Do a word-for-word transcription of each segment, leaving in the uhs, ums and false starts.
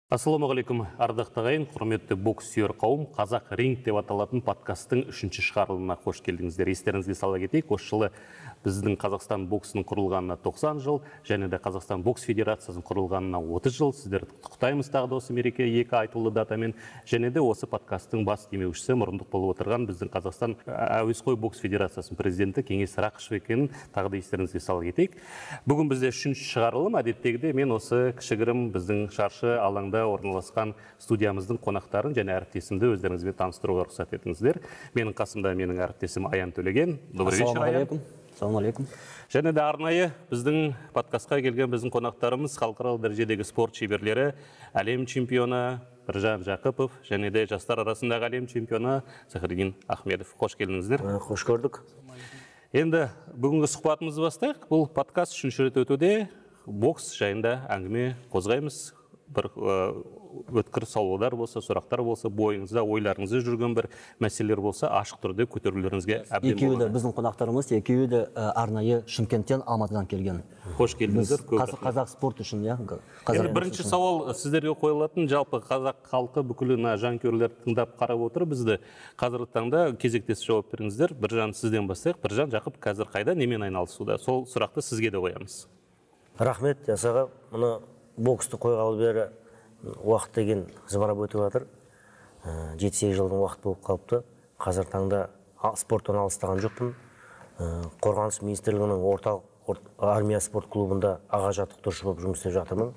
Ассалаумағалейкум, ардақты ағайын, құрметті бокс сүйер қауым, Қазақ ринг деп аталатын подкасттың үшінші шығарылымына қош келдіңіздер. Естеріңізге сала кетейік, осы жылы біздің Қазақстан боксының құрылғанына тоқсан жыл, және де Қазақстан бокс федерациясының құрылғанына отыз жыл. Сіздерді құттықтаймыз тағы да осы мереке екі айтулы датамен, және де осы подкасттың бас демеушісі, мұрындық болып отырған біздің Қазақстан әуесқой бокс федерациясының президенті Кеңес Рақышев екенін тағы да естеріңізге сала кетейік. Бүгін бізде үшінші шығарылым, әдеттегідей мен осы кішігірім біздің шаршы алаңда орналасқан студиямыздың қонақтарын және әріптесімді өздеріңізбен таныстыруға рұқсат етіңіздер. Менің қасымда менің әріптесім Аян Төлеген. Добрый вечер, Аян. Ассалаумағалейкум. Және де арнайы біздің подкастқа келген біздің қонақтарымыз халықаралық дәрежедегі спорт шеберлері, әлем чемпионы Біржан Жақыпов және де жастар арасындағы әлем чемпионы Захриддин Ахмедов. Қош келдіңіздер. Қош көрдік. Енді бүгінгі сұхбатымызды бастайық. Бұл подкаст үшінші рет өтуде бокс жайында әңгіме қозғаймыз. Бір өткір сауалдар болса, сұрақтар болса, бойыңызда, ойларыңызда жүрген бір мәселелер болса, ашық түрде көтерулеріңізге әбден болады. Екеуі де біздің қонақтарымыз, екеуі де арнайы Шымкенттен, Алматыдан келген. Қош келдіңіздер. Қазақ спорт үшін, иә. Енді бірінші сауал сіздерге қойылатын, жалпы қазақ халқы бүкілі жанкүйерлер тыңдап қарап отыр бізді. Қазіргі таңда кезектес жауап беріңіздер. Біржан, сізден бастайық. Біржан Жақып қазір қайда, немен айналысуда? Сол сұрақты сізге де қоямыз. Рахмет, жасаға. Мұны боксты қойғалы бері уақыт деген зыбырап өтіп жатыр. жеті сегіз жылдың уақыт болып қалыпты. Қазір таңда спорттан алыстаған жоқпын. Қорғаныс министрлігінің орталық армия спорт клубында аға жаттықтырушы болып жұмыс істеп жатырмын.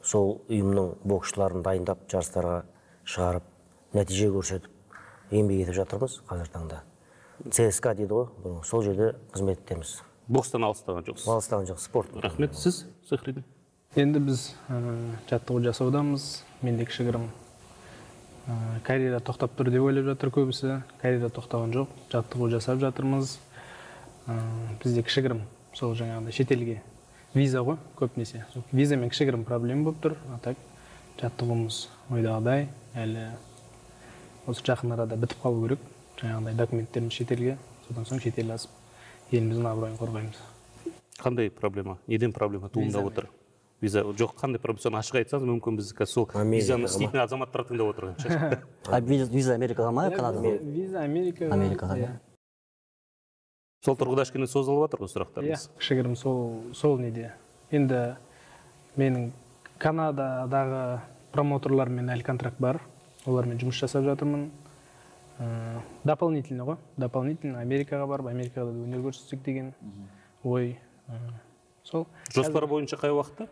Сол ұйымның боксшыларын дайындап, жарыстарға шығарып, нәтиже көрсетіп, еңбек етіп жатырмыз қазір таңда. ЦСКА дейді ғой, сол жерде қызмет етеміз. Бокстан алыстаған жоқсыз? Алыстаған жоқ, спорт. Рахмет, сіз, Захриддин? Енді біз жаттығу жасаудамыз. Менде кішігірім карьера тоқтап тұр деп ойлап жатыр көбісі. Карьера тоқтаған жоқ, жаттығу жасап жатырмыз. Бізде кішігірім сол жаңағыдай шетелге виза ғой, көбінесе. Визамен кішігірім проблема болып тұр. Так жаттығуымыз ойдағыдай, әлі осы жақын арада бітіп қалу керек. Жаңағыдай документтеріміз шетелге, содан соң шетел асып, еліміздің абыройын қорғаймыз. Қандай проблема? Неден проблема туындап отыр? Виза жоқ, қандай проблема? Ашық айтсаңыз, мүмкін біз сол визаны істейтін азаматтар тыңдап отырған шығар. Виза Америкаға ма, Канадаға? Виза Америкаға. Америкаға, иә. Сол тұрғыда кішкене созылып жатыр ғой сұрақтарымыз. Иә, кішігірім сол неде. Енді менің Канададағы промоутерлармен әлі контракт бар. Олармен жұмыс жасап жатырмын. Дополнительно ғой. Дополнительно Америкаға барып, Америкада өнер көрсетсек деген ой. Сол. Жоспар бойынша қай уақытта?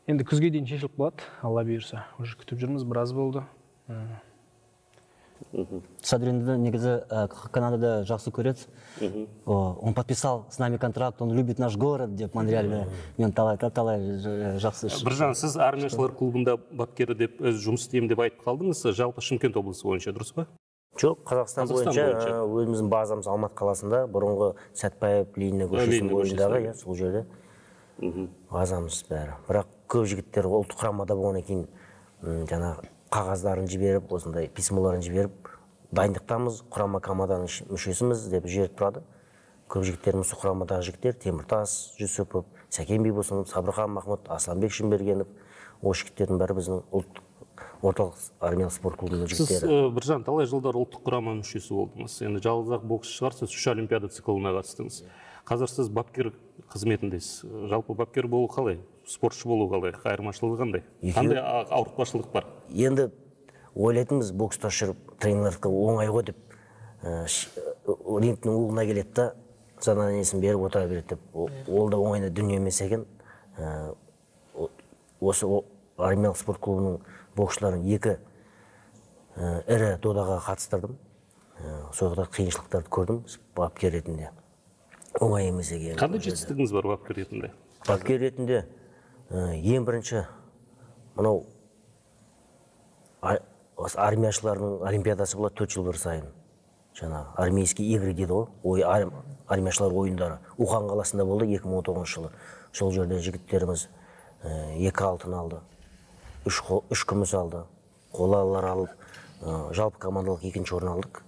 Енді күзге дейін шешіліп болады, Алла бұйырса. Уже күтіп жүрміз, біраз болды. Садринді негізі Канадада жақсы көреді. Он подписал с нами контракт, он любит наш город деп Монреальде. Мен талай-талай жақсы. Біржан, сіз армияшылар клубында бапкері деп жұмыс істеймін деп айтып қалдыңыз. Жалпы Шымкент облысы бойынша, дұрыс па? Жоқ, Қазақстан бойынша өзіміздің базамыз Алматы қаласында, бұрынғы Сәтпаев Ленина көшесінің бойындағы, сол жерде базамыз бәрі. Бірақ көп жігіттер ұлттық құрамада болғаннан кейін жаңа қағаздарын жіберіп, осындай письмаларын жіберіп, дайындықтамыз, құрама команданың мүшесіміз деп жіберіп тұрады. Көп жігіттеріміз құрамадағы жігіттер Теміртас Жүсіпов, Сәкен Бейбосынов, Сабырхан Махмұт, Асланбек Шынбергенов, осы жігіттердің бәрі біздің ұлттық орталық армиялық спорт клубының жігіттері. Сіз, Біржан, талай жылдар ұлттық құрама мүшесі болдыңыз. Енді жалғыз-ақ боксшы шығарсыз, үш олимпиада циклына қатыстыңыз. Қазір сіз бапкер қызметіндесіз. Жалпы бапкер болу қалай? Спортшы болу қалай? Айырмашылығы қандай? Қандай ауыртпашылық бар? Енді ойлайтынбыз, бокста жүріп тренерлерге оңай ғой деп, рингтің уғына келеді да, заданиясын беріп отыра береді деп. Ол да оңайна дүние емес екен. Осы армиялық спорт клубының боксшыларын екі ірі додаға қатыстырдым. Соғыда қиыншылықтарды көрдім бапкер ретінде. Оңай емес екен. Қандай жетістігіңіз бар бапкер ретінде? Бапкер ретінде ең бірінші мынау армияшылардың олимпиадасы болады төрт жыл бір сайын. Жаңа армейский игры дейді ғой, армияшылар ойындары. Ухан қаласында болды екі мың он тоғызыншы жылы. Сол жерде жігіттеріміз екі алтын алды. Үш күміс алды, қолалар алып, жалпы командалық екінші орын алдық.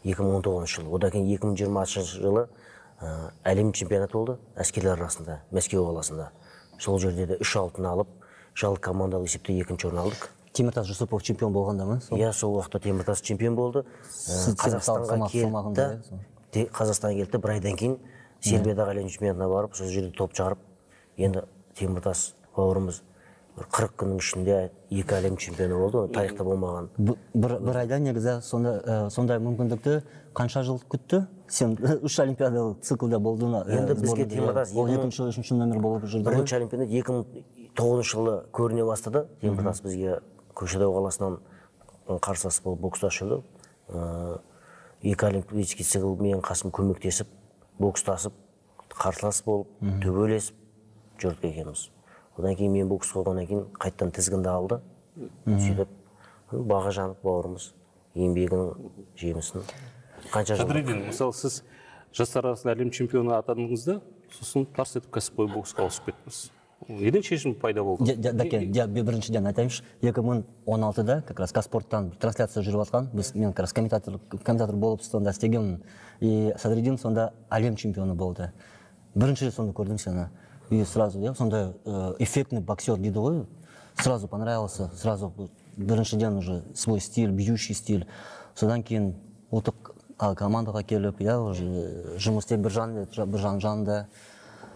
екі мың он тоғызыншы жылы. Одан кейін екі мың жиырмасыншы жылы әлем чемпионаты болды әскерлер арасында, Мәскеу қаласында. Сол жерде де үш алтын алып, жалпы командалық есепте екінші орын алдық. Теміртас Жүсіпов чемпион болғанда ма? Иә, сол уақытта Теміртас чемпион болды. Қазақстанға келді, Қазақстанға келді, бір айдан кейін Сербиядағы әлем чемпионатына барып, сол жерде топ жарып, енді Теміртас бауырымыз қырық күннің ішінде екі әлем чемпионы болды, тарихта болмаған. Бір айда негізі сондай мүмкіндікті қанша жыл күтті? Сен үш олимпиадалық циклда болдың. Енді бізге Теміртас ол екінші, үшінші номер болып жүрді. Бірінші олимпиада екі мың тоғызыншы жылы көріне бастады. Теміртас бізге Көкшетау қаласынан қарсылас болып бокстасып жүрді. Екі олимпийский цикл мен қасым көмектесіп, бокстасып, қарсылас болып, төбелесіп жүрдік екенбіз. Одан кейін мен бокс қойғаннан кейін қайттан тізгінді алды. Сөйтіп, баға жанып бауырымыз еңбегінің жемісін қанша жыл. Қадыриден, мысалы сіз жастар арасында әлем чемпионы атандыңызда, сосын тарс етіп кәсіпқой боксқа ауысып кеттіңіз. Неден шешім пайда болды? Біріншіден айтайыншы, екі мың он алтыда как раз Казспорттан трансляция жүріп жатқан, біз мен как раз комментатор болып сонда істегенмін. И Садриддин сонда әлем чемпионы болды. Бірінші рет сонда көрдім сені. И сразу, я сондай эффектный боксер дейді ғой, сразу понравился, сразу біріншіден уже свой стиль, бьющий стиль. Содан кейін ұлттық командаға келіп, я уже жұмыс істеп Біржан жанында.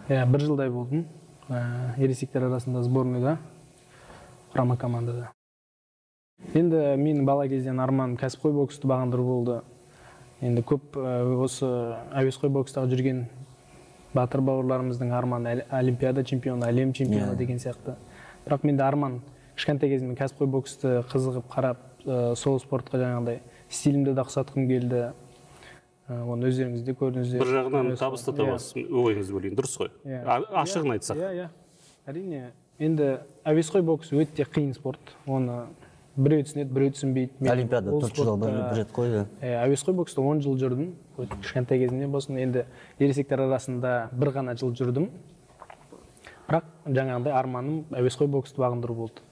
Иә, бір жылдай болдым. Ересектер арасында сборныйда, құрама командада. Енді менің бала кезден арман кәсіпқой боксты бағындыру болды. Енді көп осы әуесқой бокстағы жүрген батыр бауырларымыздың арманы олимпиада чемпионы, әлем чемпионы деген сияқты. Бірақ менде арман кішкентай кезімде кәсіпқой боксты қызығып қарап, сол спортқа жаңағыдай стилімді де ұқсатқым келді. Оны өздеріңізде көрдіңіздер. Бір жағынан табысты табасыз, ойыңызды бөлейін, дұрыс қой. Ашығын айтсақ. Иә, иә. Әрине, енді әуесқой бокс өте қиын спорт. Оны біреу түсінеді, біреу түсінбейді. Олимпиада төрт жыл бір рет қойды. Әуесқой бокста он жыл жүрдім. Кішкентай кезімде болсын, енді ересектер арасында бір ғана жыл жүрдім. Бірақ жаңағындай арманым әуесқой боксты бағындыру болды.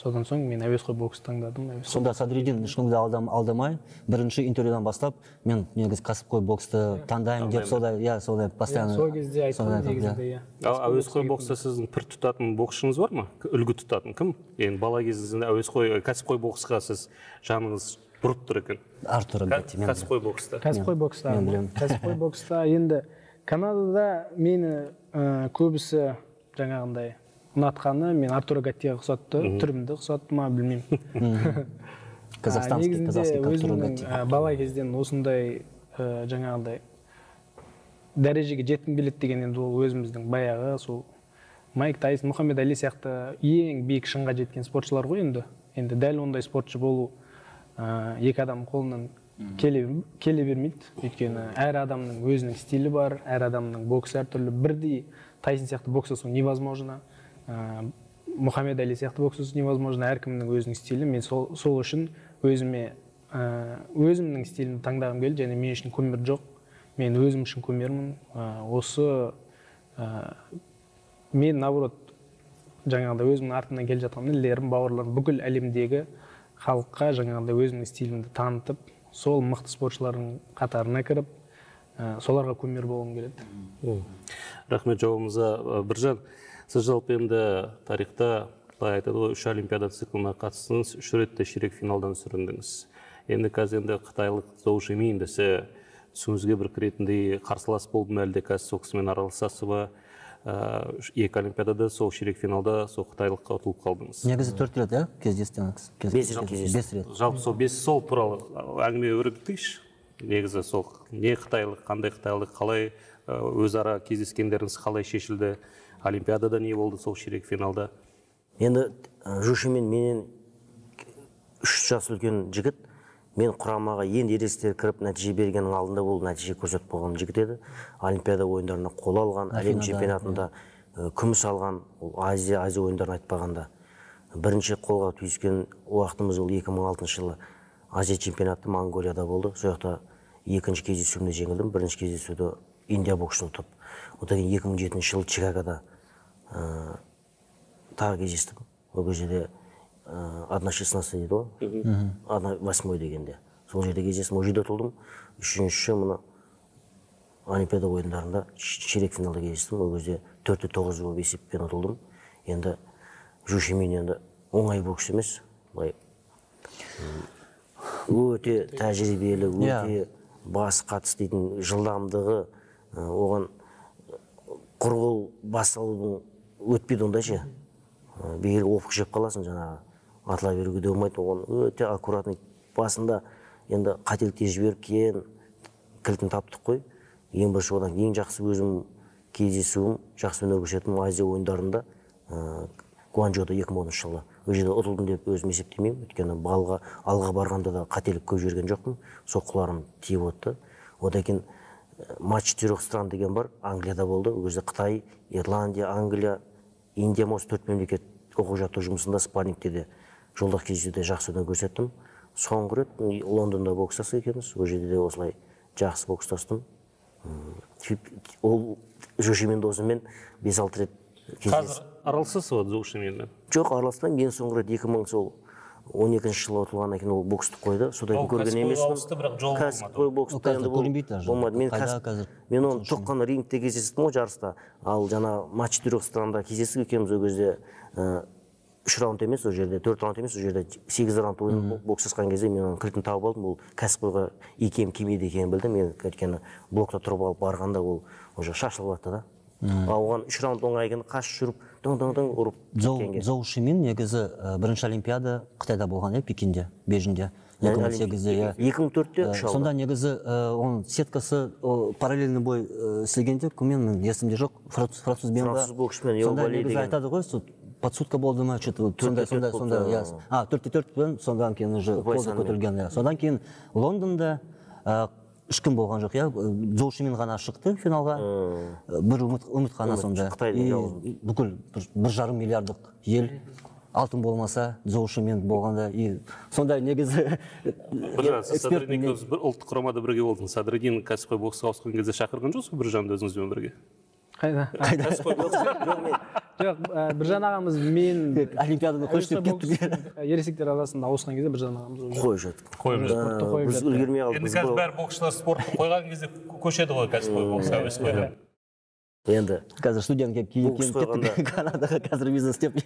Содан соң мен әуесқой боксты таңдадым. Сонда Садриддин ешкімді алдамай, бірінші интервьюдан бастап, мен негізі кәсіпқой боксты таңдаймын деп солай, иә, солай постоянно. Сол кезде айтқан негізінде, иә. Әуесқой бокста сіздің пір тұтатын боксшыңыз бар ма? Үлгі тұтатын кім? Енді бала кезіңізде әуесқой, кәсіпқой боксқа сіз жаныңыз бұрып тұр екен. Артур Гатти. Кәсіпқой бокста. Кәсіпқой бокста. Кәсіпқой бокста енді Канадада мені көбісі жаңағындай ұнатқаны, мен Артур Гаттиға ұқсатты, түрімді ұқсатты ма, білмеймін. Казахстанский, казахский Артур Гатти. Бала кезден осындай жаңағындай дәрежеге жеткім келеді деген енді ол өзіміздің баяғы сол Майк Тайсон, Мұхаммед Али сияқты ең биік шыңға жеткен спортшылар ғой енді. Енді дәл ондай спортшы болу екі адам қолынан келе бермейді. Өйткені әр адамның өзінің стилі бар, әр адамның боксы әртүрлі. Бірдей Тайсон сияқты боксасу невозможно. Мұхаммед Али сияқты боксасу невозможно. Әркімнің өзінің стилі. Мен сол үшін өзіме өзімнің стилімді таңдағым келді, және мен үшін көмір жоқ. Мен өзім үшін көмермін. Осы мен наоборот жаңағыдай өзімнің артынан келе жатқан інілерім, бауырларым бүкіл әлемдегі халыққа жаңағыдай өзімнің стилімді танытып, сол мықты спортшылардың қатарына кіріп, соларға көмір болғым келеді. Рахмет жауабыңызға. Біржан, сіз жалпы енді тарихта былай айтады ғой, үш олимпиада циклына қатыстыңыз, үш ретте ширек финалдан сүріндіңіз. Енді қазір енді қытайлық Зоу Шимин десе түсіңізге бір кіретіндей қарсылас болды ма, әлде қазір сол кісімен араласасыз ба? Екі олимпиадада сол ширек финалда сол қытайлыққа ұтылып қалдыңыз. Негізі төрт рет, иә, кездестіңіз? Бес рет. Жалпы сол бес сол туралы әңгіме өрбітейікші. Негізі сол не қытайлық, қандай қытайлық, қалай өзара кездескендеріңіз қалай шешілді, олимпиадада не болды сол ширек финалда? Енді Жушимен менен үш жас үлкен жігіт, мен құрамаға енді ересектер кіріп нәтиже бергеннің алдында бұл нәтиже көрсетіп болған жігіт еді. Олимпиада ойындарына қола алған, әлем чемпионатында күміс алған, Азия Азия ойындарын айтпағанда. Бірінші қолға түйіскен уақытымыз ол екі мың алтыншы жылы Азия чемпионаты Монголияда болды. Сол жақта екінші кездесуімде жеңілдім, бірінші кездесуді Индия боксшыны ұтып. Одан кейін екі мың жетінші жылы Чикагода тағы кездестім. Ол жерде одна шестнадцать дейді ғой, одна восьмой дегенде. Сол жерде кездесім, ол жерде ұтылдым. Үшінші мұны Олимпиада ойындарында ширек финалда кездестім. Ол кезде төрт те тоғыз болып есеппен ұтылдым. Енді Жушимин енді оңай бокс емес, былай өте тәжірибелі, өте бас қатыс дейтін жылдамдығы, оған құрғыл бас алудың өтпейді ондай ше. Бегер опық жеп қаласың жаңағы, атыла беруге де болмайды, оған өте аккуратный. Басында енді қателікте жіберіп кейін кілтін таптық қой. Ең бірінші одан ең жақсы өзім кездесуім, жақсы өнер көрсеттім Азия ойындарында, Гуанчжоуда екі мың оныншы жылы. Ол жерде ұтылдым деп өзім есептемеймін, өйткені балға алға барғанда да қателік көп жіберген жоқпын, соққыларым тиіп отты. Одан кейін матч четырех стран деген бар, Англияда болды. Ол кезде Қытай, Ирландия, Англия, Индия, осы төрт мемлекет оқу жаттығу жұмысында спаррингте де жолдақ кездесуде жақсы өнер көрсеттім. Соңғы рет Лондонда бокстасық екенбіз, ол жерде де осылай жақсы бокстастым. Ол Жушимин досымен бес алты рет кездестім. Қазір араласасыз ба Жушиминмен? Жоқ, араласпаймын. Мен соңғы рет екі мың он екінші жылы ұтылғаннан кейін ол боксты қойды. Содан көрген емеспін. Кәсіпқой бокста енді болмады. Мен оны тек қана рингте кездестім ғой жарыста. Ал жаңа матч четырех странада кездестік екенбіз ол кезде үш раунд емес, ол жерде төрт раунд емес, ол жерде сегіз раунд ойын боксасқан кезде мен оның кілтін тауып алдым. Ол кәсіпқойға икем келмейді екенін білдім. Мен өйткені блокта тұрып алып барғанда ол уже шашылып жатты да. Оған үш раунд оңай екен, қашып жүріп, дөң-дөң-дөң ұрып кеткенге. Жушимин негізі бірінші олимпиада Қытайда болған, Пекинде, Бейжіңде. екі мың сегізде. екі мың төртте үш алды. Сонда негізі оның сеткасы параллельный бой істегенде, кіммен есімде жоқ, французбен ба? Француз боксшымен, сонда негізі айтады ғой, подсудка болды ма, сондай, сондай, сондай. А, төртте төрт, содан кейін уже қолды көтерілген. Содан кейін Лондонда үш күн болған жоқ, я Жушимин ғана шықты финалға, бір үміт қана сонда. Бүкіл бір жарым миллиардық ел, алтын болмаса, Жушимин болғанда. Сондай негізі... Біржан, сіз Садридин көз бір ұлттық құрамада бірге болдың. Садридин кәсіпқой боксқа ауысқан кезде шақырған жоқсыз Біржанды өзіңізбен бірге? Қайда? Кәсіпқой боксқа? Жоқ, Біржан ағамыз мен олимпиаданы қойып кеттік. Ересектер арасында ауысқан кезде Біржан ағамыз қойып жатыр. Қойып жатыр. Біз үлгермей қалдық. Енді қазір бәрі боксшылар спортты қойған кезде көшеді ғой кәсіпқой боксқа өсіп қойды. Енді қазір студент келіп кеттік Канадаға қазір бизнес істеп.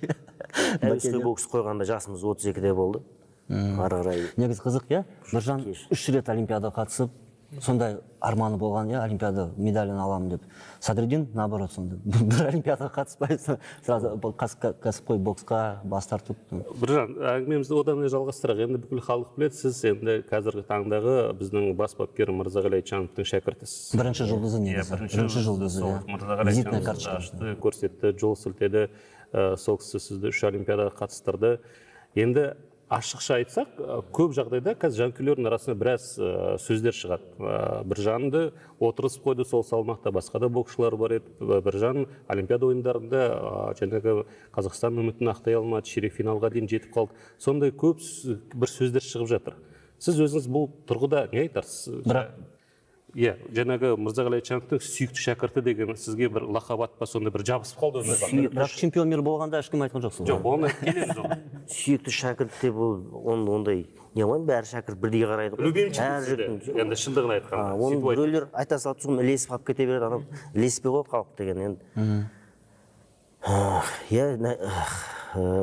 Әуесқой бокс қойғанда жасымыз отыз екіде болды. Ары қарай. Негізі қызық, иә? Біржан үш рет олимпиада қатысып, сондай арманы болған, иә, олимпиада медалін аламын деп. Садридин наоборот сонда. Бір олимпиадаға қатыспайсың, сразу кәсіпқой боксқа бас тартып. Біржан, әңгімемізді одан жалғастырақ. Енді бүкіл халық біледі, сіз енді қазіргі таңдағы біздің бас бапкер Мырзағали Айтжановтың шәкіртісіз. Бірінші жұлдызы негізі. Бірінші жұлдызы. Визитная карточка. Көрсетті, жол сілтеді, сол кісі сізді үш олимпиадаға қатыстырды. Енді ашықша айтсақ, көп жағдайда қазір жанкүйерлердің арасында біраз сөздер шығады. Біржанды отырысып қойды сол салмақта, басқа да боксшылар бар еді. Біржан олимпиада ойындарында жаңағы Қазақстан үмітін ақтай алмады, ширек финалға дейін жетіп қалды. Сондай көп бір сөздер шығып жатыр. Сіз өзіңіз бұл тұрғыда не айтарсыз? Бірақ Иә, жаңағы Мырзағали Айтжановтың сүйікті шәкірті деген сізге бір лақап па, сонда бір жабысып қалды. Бірақ чемпион мир болғанда ешкім айтқан жоқсыз. Жоқ, оны келеміз ол. Сүйікті шәкірт деп ол ондай не ғой, бәрі шәкірт бірдей қарайды ғой. Любимчик енді шындығын айтқанда. Оны біреулер айта салады, соны ілесіп қалып кете береді, адам ілеспей ғой халық деген енді. Иә,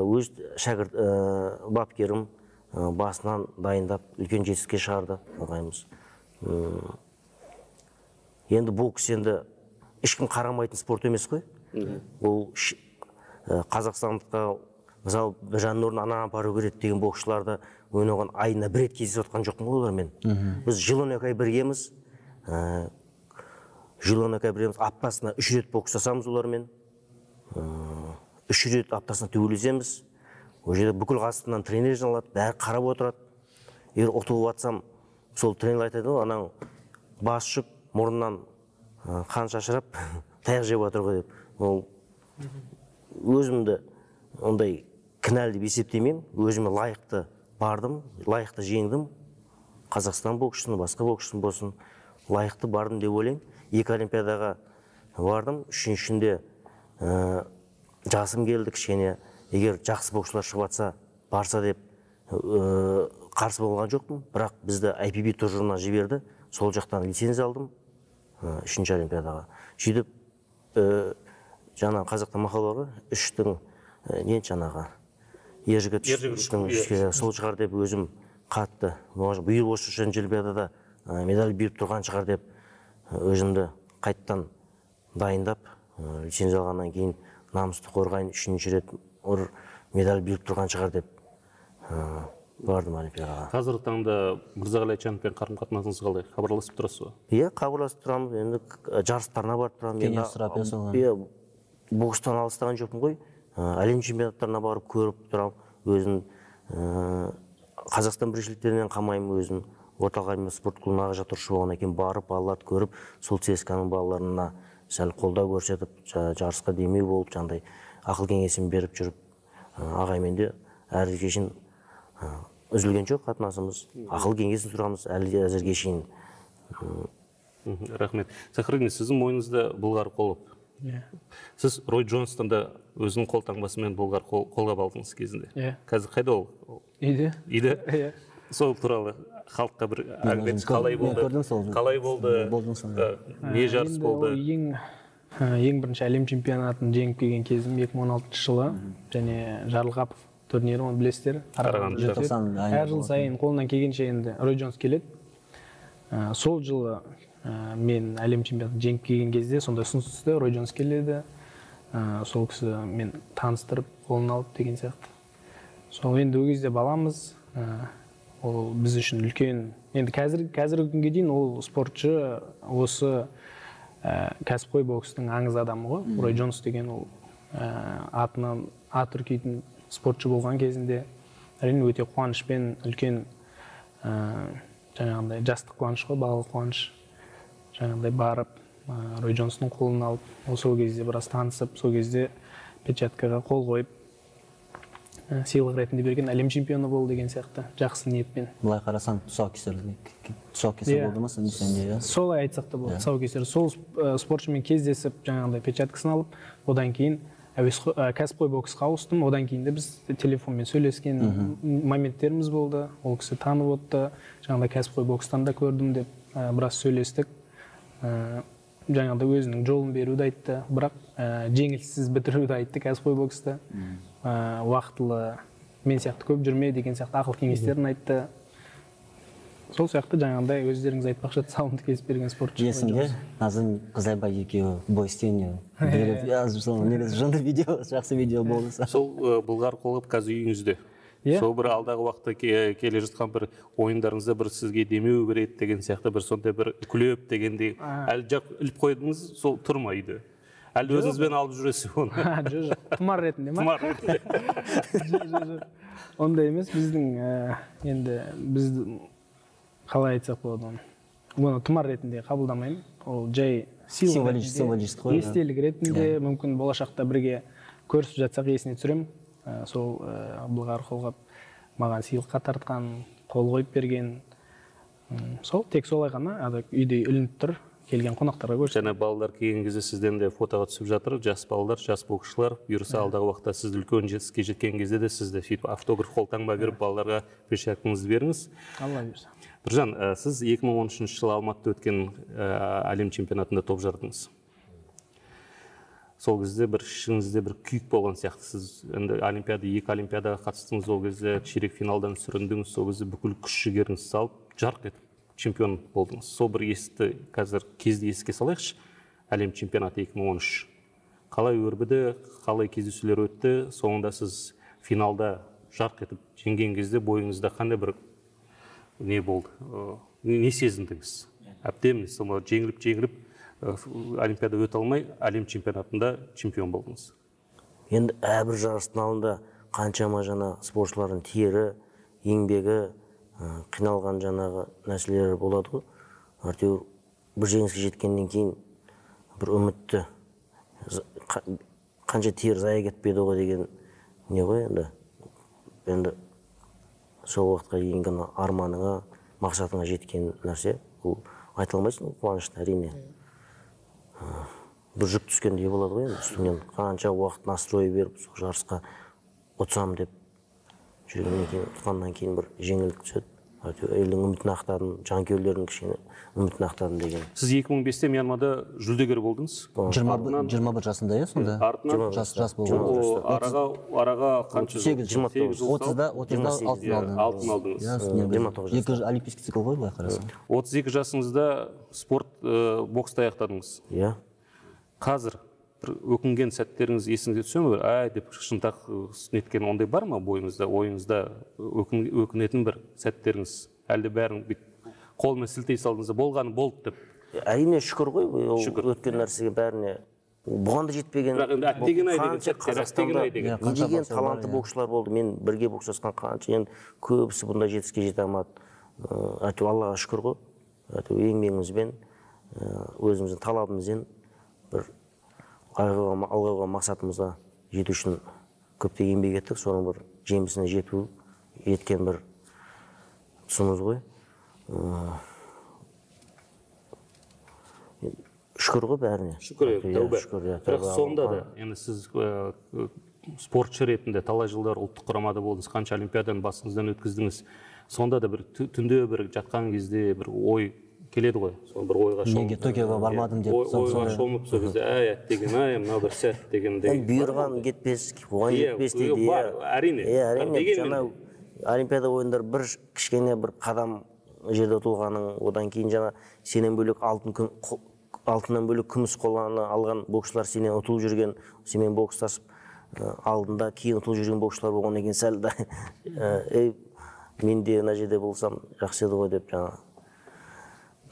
өз шәкірт бапкерім басынан дайындап үлкен жетістікке шығарды ағайымыз. Енді бокс енді ешкім қарамайтын спорт емес қой. Ол қазақстандыққа, мысалы, Біржанның орнына ананы апару керек деген боксшыларды ойнаған айына бір рет кездесіп отқан жоқпын ғой олармен. Біз жыл он екі ай біргеміз. Жыл он екі ай біргеміз, аптасына үш рет бокстасамыз олармен. Үш рет аптасына төбелесеміз. Ол жерде бүкіл қасынан тренер жиналады, бәрі қарап отырады. Егер ұтылып жатсам, сол тренер айтады ғой, анаң бас ұшып, мұрнынан қан шашырап, таяқ жеп жатыр ғой деп. Өзімді ондай кінәлі деп есептемеймін. Өзіме лайықты бардым, лайықты жеңдім. Қазақстан боксшысын, басқа боксшысын болсын, лайықты бардым деп ойлаймын. Екі олимпиадаға бардым. Үшіншінде жасым келді кішкене. Егер жақсы боксшылар шығып жатса, барса деп қарсы болған жоқпын. Бірақ бізді ай пи би тұжырымына жіберді. Сол жақтан лицензия алдым. Үшінші олимпиадаға. Сөйтіп, жаңа қазақта мақал бар ғой, үштің не жаңағы ержігіт сол шығар деп өзім қатты биыл осы үшінші олимпиадада медаль беріп тұрған шығар деп өзімді қайттан дайындап лицензия алғаннан кейін намысты қорғайын үшінші рет ұр медаль беріп тұрған шығар деп бардым олимпиадаға. Қазіргі таңда Мырзағали Айтжановпен қарым-қатынасыңыз қалай? Хабарласып тұрасыз ба? Иә, хабарласып тұрамыз. Енді жарыстарына барып тұрамын. Кеңес сұрап жасалған. Иә, бокстан алыстаған жоқпын ғой. Әлем чемпионаттарына барып көріп тұрамын. Өзім Қазақстан біріншіліктерінен қалмаймын, өзім орталық аймақ спорт клубына жаттықтырушы болғаннан кейін барып, балаларды көріп, сол цска-ның балаларына сәл қолдау көрсетіп, жарысқа демеу болып, жаңағыдай ақыл кеңесін беріп жүріп, ағаймен де әрі кешін үзілген жоқ қатынасымыз. Ақыл кеңесін сұрамыз әлі әзірге шейін. Рахмет. Сахридин, сіздің мойныңызда Бұлғар Қолып. Сіз Рой Джонстонда өзінің қолтаңбасымен Бұлғар қолғап алдыңыз кезінде. Қазір қайда ол? Үйде. Үйде? Сол туралы халыққа бір әңгімеңіз қалай болды? Қалай болды? Не жарыс болды? Ең бірінші әлем чемпионатын жеңіп келген кезім екі мың он алтыншы жылы, және Жарылғапов турнирі, оны білесіздер. Әр жыл сайын қолынан келгенше енді Рой Джонс келеді. Сол жылы мен әлем чемпионатын жеңіп келген кезде сондай ұсыныс түсті, Рой Джонс келеді. Сол кісі мен таныстырып, қолын алып деген сияқты. Сол енді ол кезде баламыз, ол біз үшін үлкен. Енді қазіргі күнге дейін ол спортшы, осы кәсіпқой бокстың аңыз адамы ғой. Рой Джонс деген ол атынан ат үркейтін спортшы болған кезінде әрине өте қуанышпен, үлкен жаңағындай жастық қуаныш қой, балалық қуаныш. Жаңағындай барып, Рой Джонстың қолын алып, сол кезде біраз танысып, сол кезде печаткаға қол қойып, сыйлық ретінде берген әлем чемпионы болды деген сияқты, жақсы ниетпен. Былай қарасаң, тұсаукесер болды ма сенде? Солай айтсақ та болды, тұсаукесер. Сол спортшымен кездесіп, жаңағындай печаткасын алып, одан кейін кәсіпқой боксқа ауыстым, одан кейін де біз телефонмен сөйлескен моменттеріміз болды. Ол кісі танып отты, жаңағындай кәсіпқой бокстан да көрдім деп біраз сөйлестік. Жаңағындай өзінің жолын беруді айтты, бірақ жеңіліссіз бітіруді айтты кәсіпқой бокста. Уақытылы мен сияқты көп жүрме деген сияқты ақыл кеңестерін айтты. Сол сияқты жаңағындай өздеріңіз айтпақшы сауынды кесіп берген спортшы. Есімде Назым Қызайбай екеуі бой стеніне беріп жазып салған негізі жынды видео, жақсы видео болды. Сол Бұлғар Қолып қазір үйіңізде. Сол бір алдағы уақытта келе жатқан бір ойындарыңызда бір сізге демеу береді деген сияқты бір сондай бір күлеп дегендей әлі жақ іліп қойдыңыз, сол тұр ма үйде? Әлі өзіңізбен алып жүресіз оны? Жоқ, жоқ, тұмар ретінде ма? Тұмар ретінде. Жоқ, жоқ, ондай емес. Біздің енді біз қалай айтсақ болады оны. Оны тұмар ретінде қабылдамаймын. Ол жай символический, естелік ретінде, мүмкін болашақта бірге көрісіп жатсақ есіне түсірем. Сол Бұлғар Қолғап маған сыйлыққа тартқан, қол қойып берген. Сол тек солай ғана үйде ілініп тұр, келген қонақтарға көрсетті. Және балалар келген кезде сізден де фотоға түсіп жатыр, жас балалар, жас боксшылар. Бұйырса алдағы уақытта сіз үлкен жетістікке жеткен кезде де сізді сөйтіп автограф қолтаңба беріп балаларға печаткаңызды беріңіз. Алла бұйырса. Біржан, сіз екі мың он үшінші жылы Алматыда өткен әлем чемпионатында топ жардыңыз. Сол кезде бір ішіңізде бір күйік болған сияқты. Сіз енді олимпиада, екі олимпиадаға қатыстыңыз, ол кезде ширек финалдан сүріндіңіз, сол кезде бүкіл күш жігеріңізді салып, жарқ етіп чемпион болдыңыз. Сол бір есті қазір кезді еске салайықшы, әлем чемпионаты екі мың он үш. Қалай өрбіді, қалай кездесулер өтті, соңында сіз финалда жарқ етіп жеңген кезде бойыңызда қандай бір не болды, не сезіндіңіз? Әбден жеңіліп жеңіліп олимпиада өте алмай, әлем чемпионатында чемпион болдыңыз. Енді әрбір жарыстың алдында қаншама жаңа спортшылардың тері, еңбегі, қиналған жаңағы нәрселер болады ғой. Әйтеуір бір жеңіске жеткеннен кейін бір үмітті қанша тер зая кетпеді ғой деген не ғой енді. Енді сол уақытқа дейінгі арманыңа, мақсатыңа жеткен нәрсе, ол айта алмайсың, қуанышты әрине. Бір жүк түскендей болады ғой енді, үстіңнен қанша уақыт настрой беріп, сол жарысқа ұтсам деп жүргеннен кейін, ұтқаннан кейін бір жеңілдік түседі. елдің үмітін ақтадым, жанкүйерлердің кішкене үмітін ақтадым деген. Сіз екі мың бесте Мьянмада жүлдегер болдыңыз. жиырма бір жасында иә сонда? Артынан жас жас болды. Араға араға қанша жыл? жиырма тоғыз. отызда отызда алтын алдыңыз. Алтын алдыңыз. екі олимпийский цикл ғой былай қарасаң. отыз екі жасыңызда спорт бокста аяқтадыңыз. Иә. Қазір бір өкінген сәттеріңіз есіңізге түсе ме? Ай деп шынтақ неткен ондай бар ма бойыңызда, ойыңызда өкінетін бір сәттеріңіз? Әлде бәрін қолмен сілтей салдыңыз, болғаны болды деп? Әрине шүкір ғой, өткен нәрсеге бәріне. Бұған да жетпеген. Бірақ енді әттеген ай деген сәттер, әттеген ай деген. Не деген талантты боксшылар болды. Мен бірге бокстасқан қанша, енді көбісі бұндай жетістікке жете алмады. Әйтеуір Аллаға шүкір ғой. Әйтеуір еңбегімізбен, өзіміздің талабымызбен бір алға мақсатымызға жету үшін көптеген еңбек еттік. Соның бір жемісіне жету еткен бір тұсымыз ғой. Шүкір ғой бәріне. Шүкір, тәубә. Бірақ сонда да, енді сіз спортшы ретінде талай жылдар ұлттық құрамада болдыңыз, қанша олимпиаданы басыңыздан өткіздіңіз. Сонда да бір түнде бір жатқан кезде бір ой келеді ғой. Соны бір ойға шомып. Неге Токиоға бармадым деп. Ойға шомып сол кезде, әй, әттеген ай, мынау бір сәт дегендей. Бұйырған кетпес, оған жетпес дейді. Әрине. Әрине. Олимпиада ойындар бір кішкене бір қадам жерде ұтылғаның, одан кейін жаңа сенен бөлек алтын алтыннан бөлек күміс қоланы алған боксшылар сенен ұтылып жүрген, сенен бокстасып алдында кейін ұтылып жүрген боксшылар болған екен сәл да. Ей, мен де мына жерде болсам жақсы еді ғой деп жаңа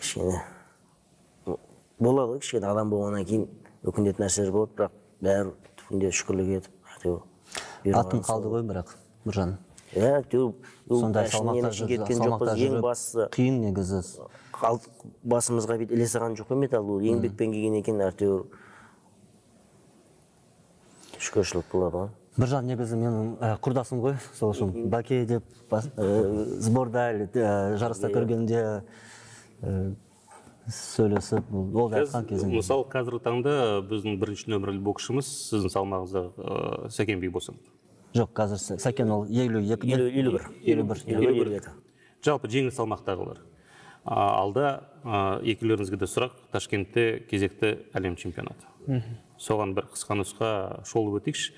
кішкене болады ғой, кішкене адам болғаннан кейін өкінетін нәрселер болады, бірақ бәрі түбінде шүкірлік етіп. Атын қалды ғой бірақ, Біржан. Иә, сондай салмақта жүріп қиын негізі. Басымызға бет ілесіған жоқ металл, ол еңбекпен келген екен, әйтеуір шүкіршілік болады ғой. Біржан негізі менің құрдасым ғой, сол үшін Баке деп сборда жарыста көргенде сөйлесіп, ол да айтқан кезінде. Мысалы, қазіргі таңда біздің бірінші нөмірлі боксшымыз сіздің салмағыңызда Сәкен Бейбосын. Жоқ, қазір Сәкен ол елу бір. Жалпы жеңіл салмақтағылар. Алда екеулеріңізге де сұрақ, Ташкентте кезекті әлем чемпионаты. Соған бір қысқа нұсқа шолып өтейікші.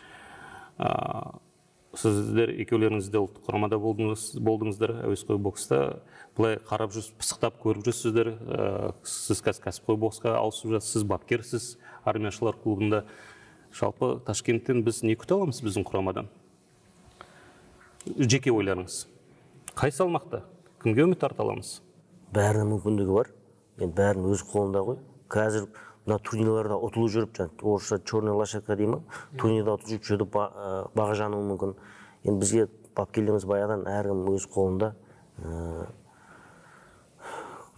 Сіздер екеулеріңізде ұлттық құрамада болдыңыздар әуесқой бокста. Бұлай қарап жүрсіз, пысықтап көріп жүрсіздер. Сіз кәсіпқой боксқа ауысып жатсыз, сіз бапкерсіз армияшылар клубында. Жалпы Ташкенттен біз не күте аламыз біздің құрамадан? Жеке ойларыңыз. Қай салмақта? Кімге үміт арта аламыз? Бәрінің мүмкіндігі бар. Бәрінің өз қолында ғой. Қазір мына турнирларда ұтылып жүріп, орысша черный лошадка деймін, турнирда ұтылып жүріп баға жануы мүмкін. Енді бізге бапкерлеріміз баяғыдан әркім өз қолында.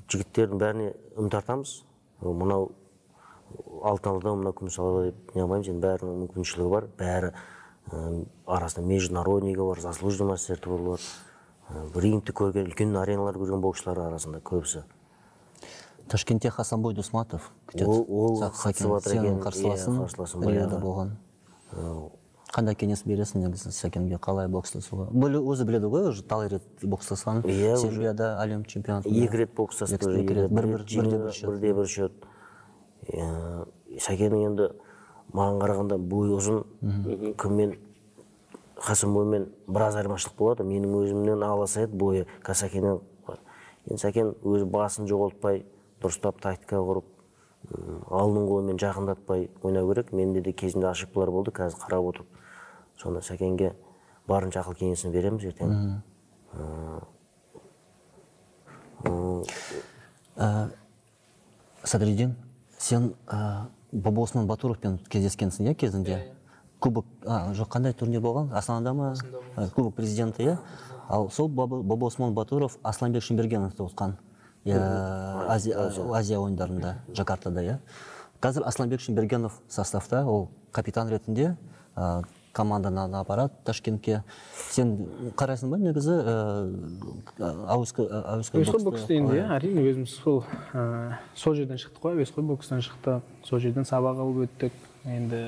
Жігіттердің бәріне үміт артамыз. Мынау алтын алды, мынау күміс алды деп не алмаймыз. Енді бәрінің мүмкіншілігі бар. Бәрі арасында международнигі бар, заслуженный мастер бар. Рингті көрген, үлкен ареналар көрген боксшылар арасында көбісі. Ташкентте Хасанбой Дусматов күтеді. Ол сенің қарсыласың Рияда болған. Қандай кеңес бересің негізі Сәкенге, қалай бокстасуға? Өзі біледі ғой, талай рет бокстасқан. Сербияда әлем чемпионаты. Екі рет бокстасты. Бірде бір шөт. Сәкеннің енді маған қарағанда бойы ұзын, кіммен Хасанбоймен біраз айырмашылық болады. Менің өзімнен аласа еді бойы Сәкеннен. Енді Сәкен өзі басын жоғалтпай, дұрыстап тактика құрып, алдың қолымен жақындатпай ойнау керек. Менде де кезінде ошибкалар болды, қазір қарап отырып. Сонда Сәкенге барынша ақыл кеңесін береміз ертең. Садриддин, сен Бобосман Батуровпен кездескенсің иә кезінде? Кубок, жоқ қандай турнир болған? Астанада ма? Кубок президенті иә? Ал сол Бобосман Батуров Асланбек Шымбергеновты ұтқан Азия ойындарында, Жакартада иә. Қазір Асланбек Шымбергенов составта, ол капитан ретінде команданы апарады Ташкентке. Сен қарайсың ба негізі әуесқой бокс дейінде, әрине өзіміз сол жерден шықтық қой, әуесқой бокстан шықты, сол жерден сабақ алып өттік. Енді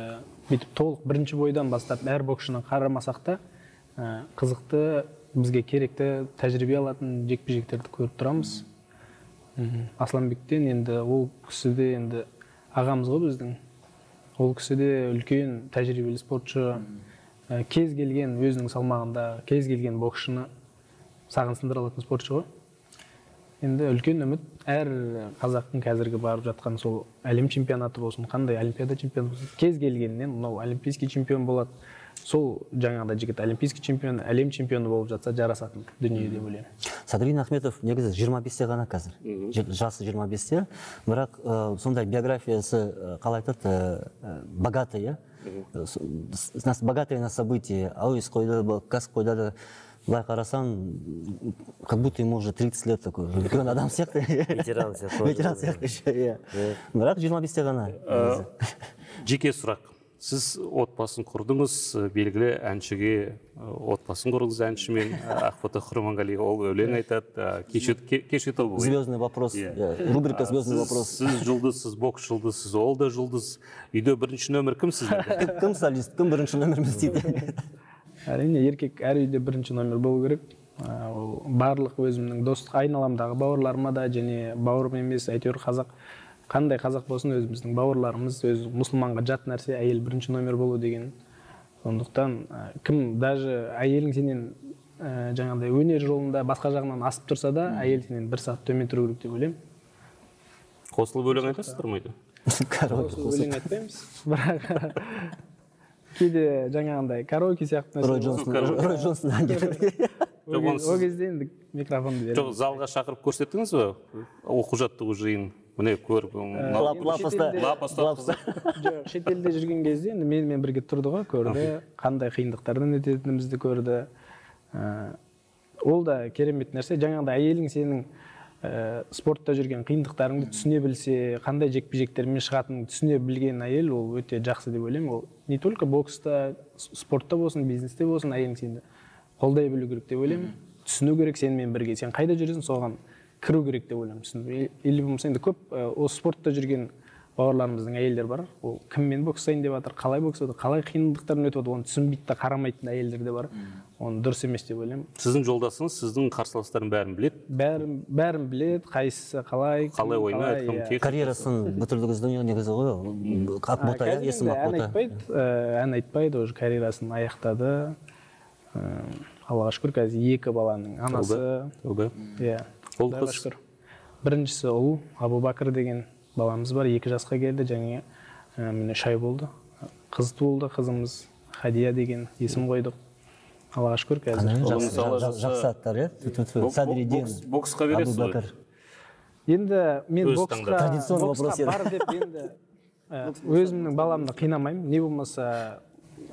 бүйтіп толық бірінші бойдан бастап әр боксшының қарамасақ та қызықты бізге керекті тәжірибе алатын жекпе-жектерді көріп тұрамыз. Асланбектен енді ол кісіде енді ағамыз ғой біздің. Ол кісіде үлкен тәжірибелі спортшы, кез келген өзінің салмағында, кез келген боксшыны сағын сындыра алатын спортшы ғой. Енді үлкен үміт әр қазақтың қазіргі барып жатқан сол әлем чемпионаты болсын, қандай олимпиада чемпионы болсын, кез келгеннен мынау олимпийский чемпион болады. Сол жаңағыда жігіт олимпийский чемпион, әлем чемпионы болып жатса жарасатын дүние деп ойлаймын. Садридин Ахметов негізі жиырма бесте ғана қазір. Жасы жиырма бесте, бірақ сондай биографиясы қалай айтады, богатый, богатый на события, ауыз қойды, кас қойды. Былай қарасаң, как будто ему уже тридцать лет такой, үлкен адам сияқты. Ветеран сияқты. Ветеран сияқты еще, бірақ жиырма бесте ғана. Жеке сұрақ. Сіз отбасын құрдыңыз, белгілі әншіге отбасын құрдыңыз әншімен, Ақбота Құрманғалиева ол өлең айтады, кешет ол. Звездный вопрос, рубрика «Звездный вопрос». Сіз жұлдызсыз, бокс жұлдызсыз, ол да жұлдыз. Үйде бірінші нөмір кім сізде? Кім солист, кім бірінші нөміріміз дейді? Әрине, еркек әр үйде бірінші номер болу керек. Ол барлық өзімнің достық айналамдағы бауырларыма да, және бауырым емес, әйтеуір қазақ, қандай қазақ болсын, өзіміздің бауырларымыз, өз мұсылманға жат нәрсе әйел бірінші номер болу деген. Сондықтан кім даже әйелің сенен жаңағыдай өнер жолында басқа жағынан асып тұрса да, әйел сенен бір сағат төмен тұру керек деп ойлаймын. Қосылып өлең айтасыздар ма? Қосылып өлең айтпаймыз, бірақ кейде жаңағындай караоке сияқты Рой Джонсон әндері. Ол кезде енді микрофонды беремін. Жоқ, залға шақырып көрсеттіңіз бе? Оқу жаттығу жиын. Міне көріп. Лапаста. Жоқ, шетелде жүрген кезде енді менімен бірге тұрды ғой, көрді. Қандай қиындықтардан өтетінімізді көрді. Ол да керемет нәрсе. Жаңағындай әйелің сенің спортта жүрген қиындықтарыңды түсіне білсе, қандай жекпе-жектермен шығатынын түсіне білген әйел, ол өте жақсы деп ойлаймын. Ол не только бокста, спортта болсын, бизнесте болсын, әйелің сені қолдай білу керек деп ойлаймын. Түсіну керек сенімен бірге. Сен қайда жүресің, соған кіру керек деп ойлаймын. Или болмаса енді көп осы спортта жүрген бауырларымыздың әйелдер бар. Ол кіммен бокстайын деп жатыр, қалай бокстайды, қалай қиындықтарын өтіп жатыр, оны түсінбейді де қарамайтын әйелдер де бар. Оны дұрыс емес деп ойлаймын. Сіздің жолдасыңыз, сіздің қарсыластарын бәрін біледі? Бәрін бәрін біледі, қайсысы қалай, қалай ойнайды, кім тек. Карьерасын бітірдіңіздің негізі ғой, Ақбота, есім Ақбота. Ән айтпайды, уже карьерасын аяқтады. Аллаға шүкір, қазір екі баланың анасы. Иә. Аллаға шүкір. Біріншісі ұл, Абубакыр деген баламыз бар, екі жасқа келді, және міне шай болды. Қыз туылды, қызымыз Хадия деген есім қойдық. Аллаға шүкір, қазір. Жақсы аттар, е? Садридин, боксқа бересіз ғой? Енді мен боксқа бар деп енді өзімнің баламды қинамаймын. Не болмаса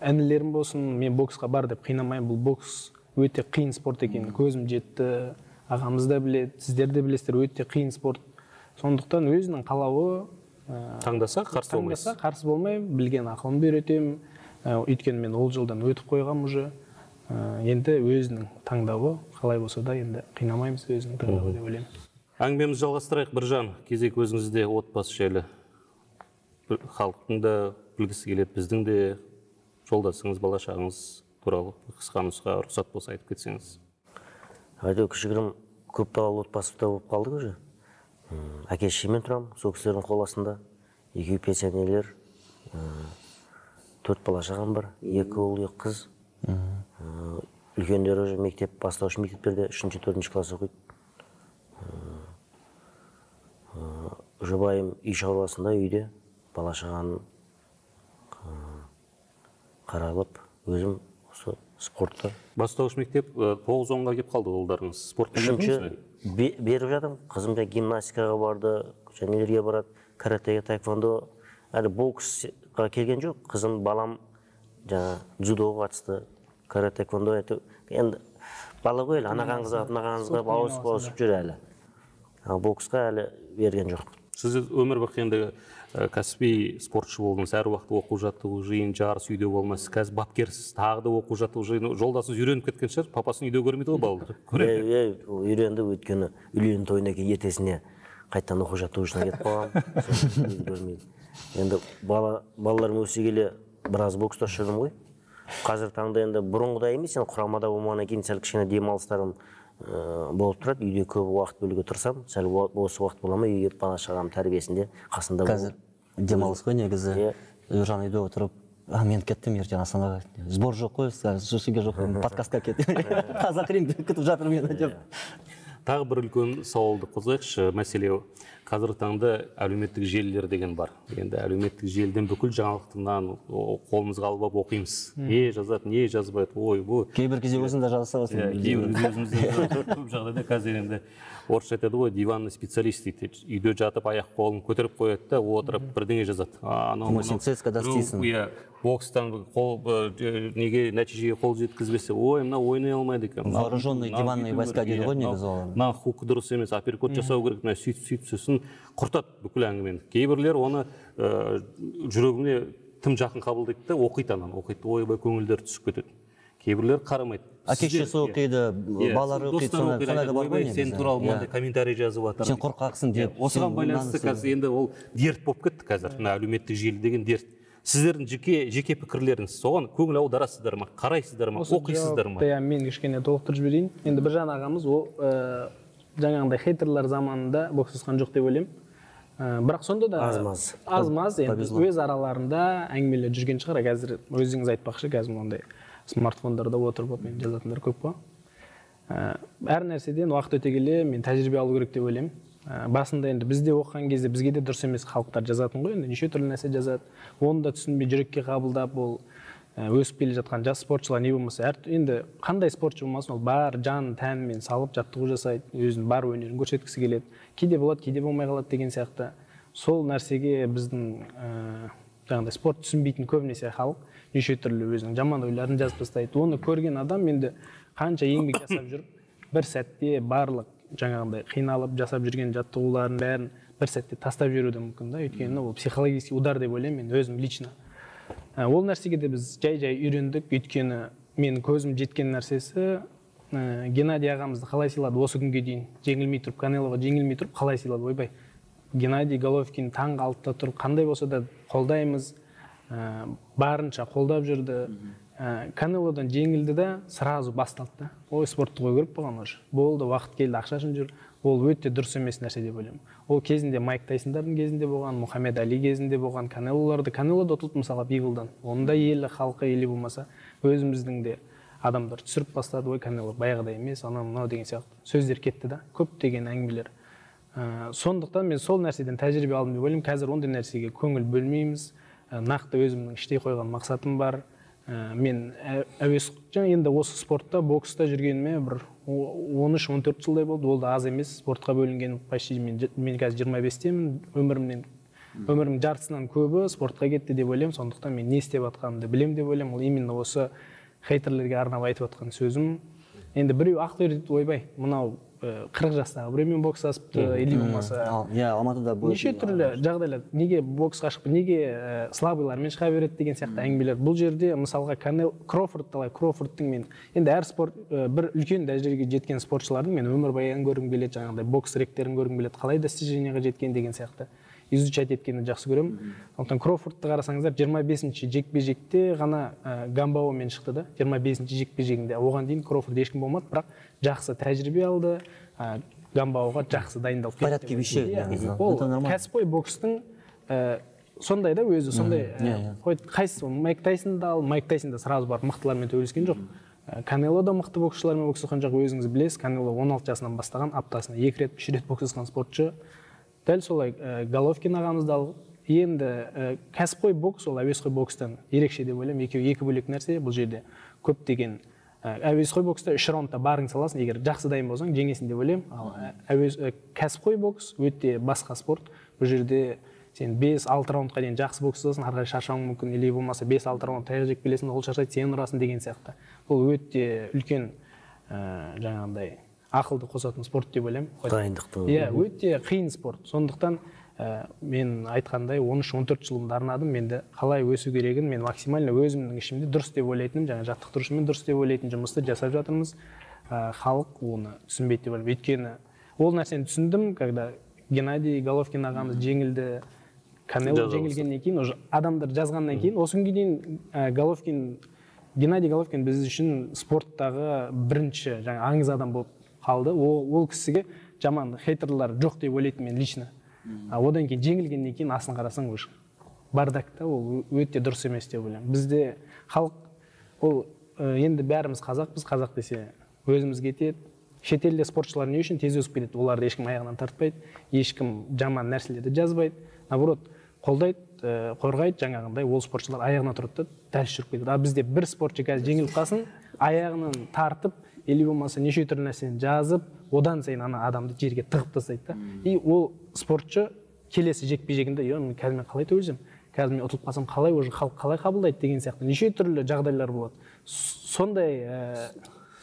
әнілерім болсын, мен боксқа бар деп қинамаймын. Бұл бокс өте қиын спорт екен. Көзім жетті, ағамыз да біледі, сіздер де білесіздер, өте қиын спорт. Сондықтан өзінің қалауы таңдаса қарсы болмайсыз. Таңдаса қарсы болмай, білген ақылымды үйретемін. Өйткені мен ол жылдан өтіп қойғам уже. Енді өзінің таңдауы қалай болса да енді қинамаймыз өзінің таңдауы деп ойлаймын. Әңгімемізді жалғастырайық, Біржан. Кезек өзіңізде отбасы жайлы. Халықтың да білгісі келеді, біздің де жолдасыңыз, балашағыңыз туралы қысқа нұсқа рұқсат болса айтып кетсеңіз. Әйде кішігірім көп балалы отбасыда болып қалдық уже. Әке-шешеммен тұрамын, сол кісілердің қол астында. Екеуі пенсионерлер, төрт балашағам бар, екі ұл, екі қыз. Үлкендері уже мектеп, бастауыш мектептерде үшінші, төртінші класс оқиды. Жұбайым үй шаруасында үйде, балашағаны қаралып, өзім осы спортта. Бастауыш мектеп тоғыз онға кеп қалды ұлдарыңыз. Спортқа үшінші беріп жатырмын. Қызым да гимнастикаға барды, жәнелерге барады, каратеге, таэквондо. Әлі боксқа келген жоқ. Қызым, балам жаңа дзюдоға қатысты, карате, таэквондо. Енді бала ғой, анағаңызға, анағаңызға ауысып жүр әлі. Боксқа әлі берген жоқ. Сіз өмір бақи енді кәсіби спортшы болдыңыз, әр уақытта оқу жаттығу жиын, жарыс үйде болмайсыз, қазір бапкерсіз, тағы да оқу жаттығу жиын. Жолдасыңыз үйреніп кеткен шығар, папасын үйде көрмейді ғой балалар. Үйренді, өйткені үйлену тойына кейін ертесіне қайттан оқу жаттығушына кетіп қалғам. Енді балаларым өсе келе біраз бокста жүрдім ғой. қазір таңда енді бұрынғыдай емес, енді құрамада болмағаннан кейін сәл кішкене демалыстарым болып тұрады. Үйде көп уақыт бөлуге тырысамын. Сәл осы уақыт бола ма, үйге бала шағам тәрбиесінде қасында болу. Қазір демалыс қой негізі. Ержан үйде отырып, мен кеттім ертең Астанаға. Сбор жоқ қой, жүрсеге жоқ, подкастқа кеттім. Қазақ рингті күтіп жатыр мені деп. Тағы бір үлкен сауалды қозғайықшы. Мәселе қазіргі таңда әлеуметтік желілер деген бар. Енді әлеуметтік желіден бүкіл жаңалықтардан қолымызға алып оқимыз. Не жазады, не жазбайды. Ой, бұл кейбір кезде өзің де жаза саласың. Кейбір кезде өзімізде көп жағдайда қазір енді орысша айтады ғой, диванный специалист дейді. Үйде жатып аяқ қолын көтеріп қояды да, отырып бірдеңе жазады. Анау цска-да істейсің. Иә, бокстан қол неге нәтижеге қол жеткізбесе, ой, мына ойнай алмайды екен. Вооруженный диванный войска дейді ғой негізі ол. Мына хук дұрыс емес, апперкот жасау керек, мына сөйтіп сөйтіп сосын құртады бүкіл әңгімені. Кейбірлер оны жүрегіне тым жақын қабылдайды да, оқиды ананы, оқиды, ойбай көңілдері түсіп кетеді. Кейбірлер қарамайды. Әкешесі оқиды, балалары оқиды, сондай да бар ғой негізі. Сен туралы мынандай комментарий жазып жатыр. Сен қорқақсың деп. Осыған байланысты қазір енді ол дерт болып кетті қазір, мына әлеуметтік желі деген дерт. Сіздердің жеке жеке пікірлеріңіз соған көңіл аударасыздар ма, қарайсыздар ма, оқисыздар ма? Иә, мен кішкене толықтырып жіберейін. Енді Біржан ағамыз ол жаңағындай хейтерлер заманында боксасқан жоқ деп ойлаймын. Бірақ сонда да аз-маз аз-маз енді өз араларында әңгімелер жүрген шығар. Қазір өзіңіз айтпақшы, қазір ондай смартфондарда отырып мен жазатындар көп қой. Әр нәрседен уақыт өте келе мен тәжірибе алу керек деп ойлаймын. Басында енді бізде оқыған кезде бізге де дұрыс емес халықтар жазатын ғой, енді неше түрлі нәрсе жазады. Оны да түсінбей жүрекке қабылдап, ол өсіп келе жатқан жас спортшылар не болмаса, енді қандай спортшы болмасын, ол бар жан тәнімен салып жаттығу жасайды, өзінің бар өнерін көрсеткісі келеді. Кейде болады, кейде болмай қалады деген сияқты. Сол нәрсеге біздің жаңағыдай спорт түсінбейтін көбінесе халық неше түрлі өзінің жаман ойларын жазып тастайды. Оны көрген адам енді қанша еңбек жасап жүріп, бір сәтте барлық жаңағындай қиналып жасап жүрген жаттығуларын бәрін бір сәтте тастап жіберуі мүмкін да, өйткені ол психологический удар деп ойлаймын мен өзім лично. Ол нәрсеге де біз жай-жай үйрендік, өйткені менің көзім жеткен нәрсесі Геннадий ағамызды қалай сыйлады осы күнге дейін, жеңілмей тұрып, Канелоға жеңілмей тұрып қалай сыйлады, ойбай. Геннадий Головкин таңғы алтыда тұрып, қандай болса да қолдаймыз, барынша қолдап жүрді. Канелодан жеңілді да сразу басталды. Ой, спортты қой көріп болған уже. Болды, уақыт келді, ақшасын жүр. Ол өте дұрыс емес нәрсе деп ойлаймын. Ол кезінде Майк Тайсондардың кезінде болған, Мұхаммед Али кезінде болған, Канелоларды, Канелода ұтылды мысалға Биглдан. Онда елі, халқы елі болмаса, өзіміздің де адамдар түсіріп бастады, ой, Канело баяғыдай емес, анау мынау деген сияқты сөздер кетті да, көптеген әңгімелер. Сондықтан мен сол нәрседен тәжірибе алдым деп ойлаймын. Қазір ондай нәрсеге көңіл бөлмейміз. Нақты өзімнің іштей қойған мақсатым бар. Мен әуес енді осы спортта, бокста жүргеніме бір он үш он төрт жылдай болды. Ол да аз емес. Спортқа бөлінген почти мен қазір жиырма бестемін. Өмірімнен өмірімнің жартысынан көбі спортқа кетті деп ойлаймын. Сондықтан мен не істеп жатқанымды білемін деп ойлаймын. Ол именно осы хейтерлерге арнап айтып жатқан сөзім. Енді біреу ақ көреді, ойбай, мынау қырық жастағы біреумен бокс асыпты, или болмаса. Иә, Алматыда неше түрлі жағдайлар, неге боксқа шығып, неге слабыйлармен шыға береді деген сияқты әңгімелер. Бұл жерде мысалға Кроуфорд талай, Кроуфордтың мен енді әр спорт бір үлкен дәрежеге жеткен спортшылардың мен өмірбаянын көргім келеді, жаңағыдай бокс ректерін көргім келеді, қалай достижениеға жеткен деген сияқты изучать еткенді жақсы көремін. Сондықтан Кроуфордты қарасаңыздар, жиырма бесінші жекпе-жекте ғана Гамбаомен шықты да, жиырма бесінші жекпе-жегінде. Оған дейін Кроуфорд ешкім болмады, бірақ жақсы тәжірибе алды, Гамбаоға жақсы дайындалып кетті. Порядке вещей. Ол кәсіпқой бокстың сондай да өзі, сондай қайсысы, Майк Тайсонды ал, Майк Тайсонда сразу барып мықтылармен төбелескен жоқ. Канело да мықты боксшылармен боксасқан жоқ, өзіңіз білесіз. Канело он алты жасынан бастаған, аптасына екі рет, үш рет боксасқан спортшы. Дәл солай Головкин ағамызды алып, енді кәсіпқой бокс ол әуесқой бокстан ерекше деп ойлаймын. Екеуі екі бөлек нәрсе. Бұл жерде көптеген әуесқой бокста үш раундта барың саласың, егер жақсы дайын болсаң, жеңесің деп ойлаймын. Ал кәсіпқой бокс өте басқа спорт. Бұл жерде сен бес алты раундқа дейін жақсы боксасың, ары қарай шаршауың мүмкін, или болмаса бес алты раунд таяқ жеп келесің, ол шаршайды, сен ұрасың деген сияқты. Бұл өте үлкен жаңағындай ақылды қосатын спорт деп ойлаймын. Дайындықты. Иә, өте қиын спорт. Сондықтан мен айтқандай он үш он төрт жылымды арнадым. Менде қалай өсу керегін мен максимально өзімнің ішімде дұрыс деп ойлайтыным, жаңа жаттықтырушымен дұрыс деп ойлайтын жұмысты жасап жатырмыз. Халық оны түсінбейді деп ойлаймын. Өйткені ол нәрсені түсіндім, когда Геннадий Головкин ағамыз жеңілді, Канело жеңілгеннен кейін, уже адамдар жазғаннан кейін, осы күнге дейін Головкин Геннадий Головкин біз үшін спорттағы бірінші жаңа аңыз адам болып қалды. Ол, ол кісіге жаман хейтерлар жоқ деп ойлайтын мен лично. Одан кейін жеңілгеннен кейін асын қарасаң уже бардакта ол өте дұрыс емес деп ойлаймын. Бізде халық ол енді бәріміз қазақпыз, қазақ десе өзіміз кетеді. Шетелде спортшылар не үшін тез өсіп кетеді? Оларды ешкім аяғынан тартпайды, ешкім жаман нәрселерді жазбайды. Наоборот, қолдайды, қорғайды, жаңағындай ол спортшылар аяғына тұрды да дәл жүріп кетеді. А бізде бір спортшы қазір жеңіліп қалсын, аяғынан тартып, или болмаса неше түрлі нәрсені жазып, одан сайын ана адамды жерге тығып тастайды да. И ол спортшы келесі жекпе-жегінде, "Е, мен қазір мен қалай төгілсем, қазір мен ұтылып қалсам қалай, уже халық қалай қабылдайды" деген сияқты неше түрлі жағдайлар болады. Сондай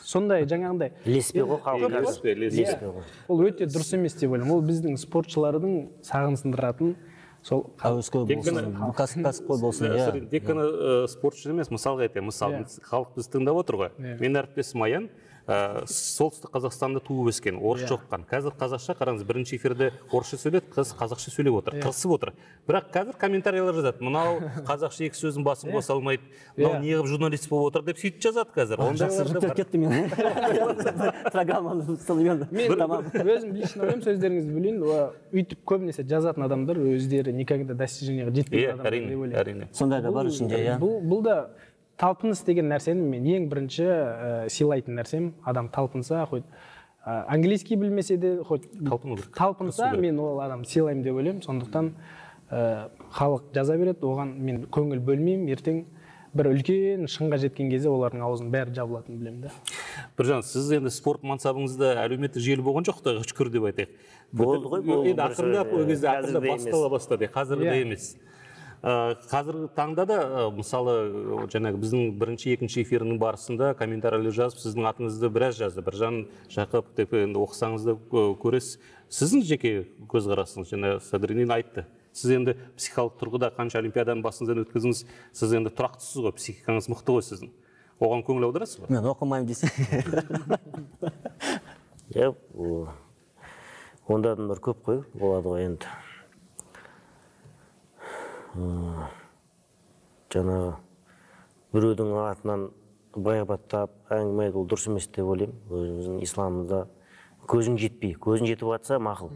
сондай жаңағындай ілеспе ғой халық. ілеспе ғой. Ол өте дұрыс емес деп ойлаймын. Ол біздің спортшылардың сағын сындыратын сол әуесқой болсын, кәсіпқой болсын, иә. Тек қана спортшы емес, мысалға айтайын, мысалы халық бізді тыңдап отыр ғой. Мен әріптесім Аян солтүстік Қазақстанда туып өскен, орысша оқыған. Қазір қазақша қараңыз, бірінші эфирде орысша сөйледі, қыз қазақша сөйлеп отыр, қырсып отыр. Бірақ қазір комментариялар жазады, мынау қазақша екі сөздің басын қоса алмайды, мынау неғып журналист болып отыр деп сөйтіп жазады қазір. Жақсы жүктеп кетті мен. Программаны стылымен. Мен өзім лично ойлаймын, сөздеріңізді бөлейін, үйтіп көбінесе жазатын адамдар өздері никогда достижениеға жетпеген адамдар деп ойлаймын. Сондай да бар ішінде, иә. Бұл да талпыныс деген нәрсені мен ең бірінші сыйлайтын нәрсем, адам талпынса, хоть английский білмесе де, хоть талпынса, мен ол адам сыйлаймын деп ойлаймын. Сондықтан халық жаза береді, оған мен көңіл бөлмеймін, ертең бір үлкен шыңға жеткен кезде олардың аузының бәрі жабылатынын білемін да. Біржан, сіз енді спорт мансабыңызда әлеуметтік желі болған жоқ, Құдайға шүкір деп айтайық. Болды ғой, бұл енді ақырындап ол кезде ақырындап бастала бастады, қазіргі емес. Қазіргі таңда да, мысалы, жаңағы біздің бірінші, екінші эфирінің барысында комментарийлер жазып, сіздің атыңызды біраз жазды. Біржан Жақып деп енді оқысаңызды көресіз. Сіздің жеке көзқарасыңыз, жаңа Садриддин айтты. Сіз енді психикалық тұрғыда қанша олимпиаданың басыңыздан өткізіңіз, сіз енді тұрақтысыз ғой, психикаңыз мықты ғой сіздің. Оған көңіл аударасыз ба? Мен оқымаймын десе. Иә, онда адамдар көп қой, болады ғой енді. Жаңағы біреудің атынан байғабаттап әңгіме айту дұрыс емес деп ойлаймын. Өзіміздің исламымызда көзің жетпей, көзің жетіп жатса мақұл.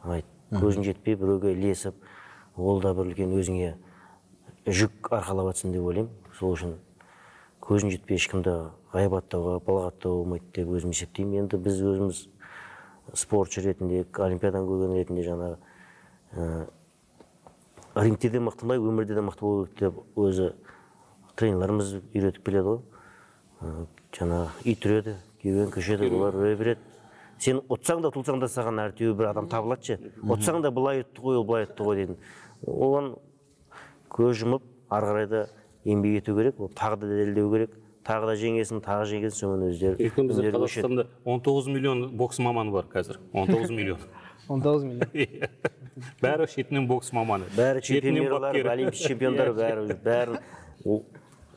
Айт, көзің жетпей біреуге ілесіп, ол да бір үлкен өзіңе жүк арқалап жатсын деп ойлаймын. Сол үшін көзің жетпей ешкімді ғайбаттауға, балағаттауға болмайды деп өзім есептеймін. Енді біз өзіміз спортшы ретінде, олимпиададан көрген ретінде жаңағы рингте де мықтымай, өмірде де мықты болу деп өзі тренерлеріміз үйретіп келеді ғой. Жаңағы ит үреді, кеуен көшеді, олар үре береді. Сен ұтсаң да, тұлсаң да саған әртеуі бір адам табылады ше. Ұтсаң да былай ұтты ғой, ол былай ұтты ғой дейтін. Оған көз жұмып, ары қарай да еңбек ету керек, тағы да дәлелдеу керек. Тағы да жеңесін, тағы жеңесін, сомен өздері. Өйткені бізде Қазақстанда он тоғыз миллион бокс маманы бар қазір. он тоғыз миллион. он тоғыз миллион. Бәрі шетінен бокс маманы. Бәрі чемпиондар, олимпийский чемпиондар бәрі бәрін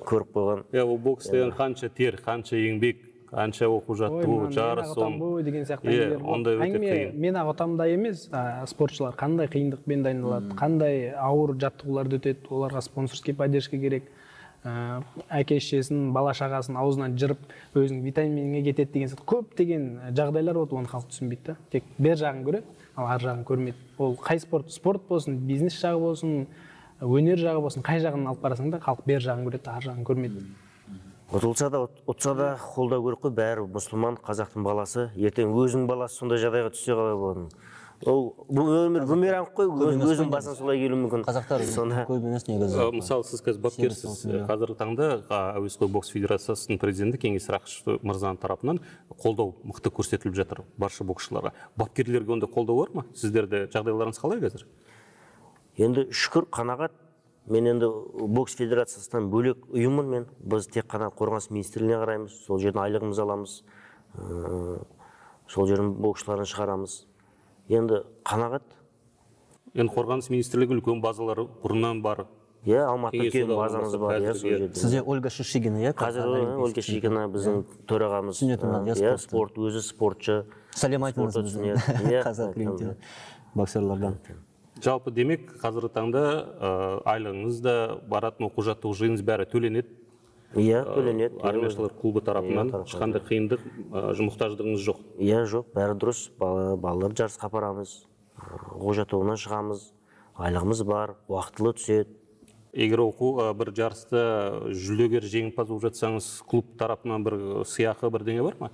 көріп қойған. Иә, ол бокс деген қанша тер, қанша еңбек, қанша оқу жаттығу, жарыс сон. Деген сияқты әңгімелер. Әңгіме мен ақ отамда емес, спортшылар қандай қиындықпен дайындалады, қандай ауыр жаттығуларды өтеді, оларға спонсорский поддержка керек. Әке-шешесін, бала-шағасын аузынан жырып, өзінің витаминге кетеді деген сияқты көптеген жағдайлар болады, оны халық түсінбейді да. Тек бер жағын көреді, ал ар жағын көрмейді. Ол қай спорт, спорт болсын, бизнес жағы болсын, өнер жағы болсын, қай жағын алып қарасаң да халық бер жағын көреді, ар жағын көрмейді. Ұтылса да, ұтса да қолдау керек қой, бәрі мұсылман, қазақтың баласы, ертең өзінің баласы сондай жағдайға түссе қалай болады. Ол өмір бумеранг қой, өзің басына солай келуі мүмкін. Қазақтар көп емес негізі. Мысалы, сіз қазір бапкерсіз. Қазіргі таңда әуесқой бокс федерациясының президенті Кеңес Рақышев мырзаның тарапынан қолдау мықты көрсетіліп жатыр барша боксшыларға. Бапкерлерге онда қолдау бар ма? Сіздерде жағдайларыңыз қалай қазір? Енді шүкір, қанағат. Мен енді бокс федерациясынан бөлек ұйыммын мен. Біз тек қана қорғаныс министрлігіне қараймыз, сол жерден айлығымызды аламыз, сол жерден боксшыларын шығарамыз. Енді қанағат. Енді қорғаныс министрлігі үлкен базалары бұрыннан бар. Иә, Алматыда үлкен базамыз бар. Сізде Ольга Шишигина, иә? Қазір Ольга Шишигина біздің төрағамыз. Иә, спорт, өзі спортшы. Сәлем айтыңыз біздің қазақ рингте боксерлардан. Жалпы демек, қазіргі таңда айлығыңыз да, баратын оқу жаттығу жиыныңыз бәрі төленеді. Иә, төленеді. Армияшылар клубы тарапынан ешқандай қиындық, мұқтаждығыңыз жоқ. Иә, жоқ, бәрі дұрыс. Балалар жарысқа апарамыз, оқу-жаттығуына шығамыз, айлығымыз бар, уақытылы түседі. Егер оқу бір жарысты жүлдегер жеңімпаз болып жатсаңыз, клуб тарапынан бір сыйақы бірдеңе бар ма?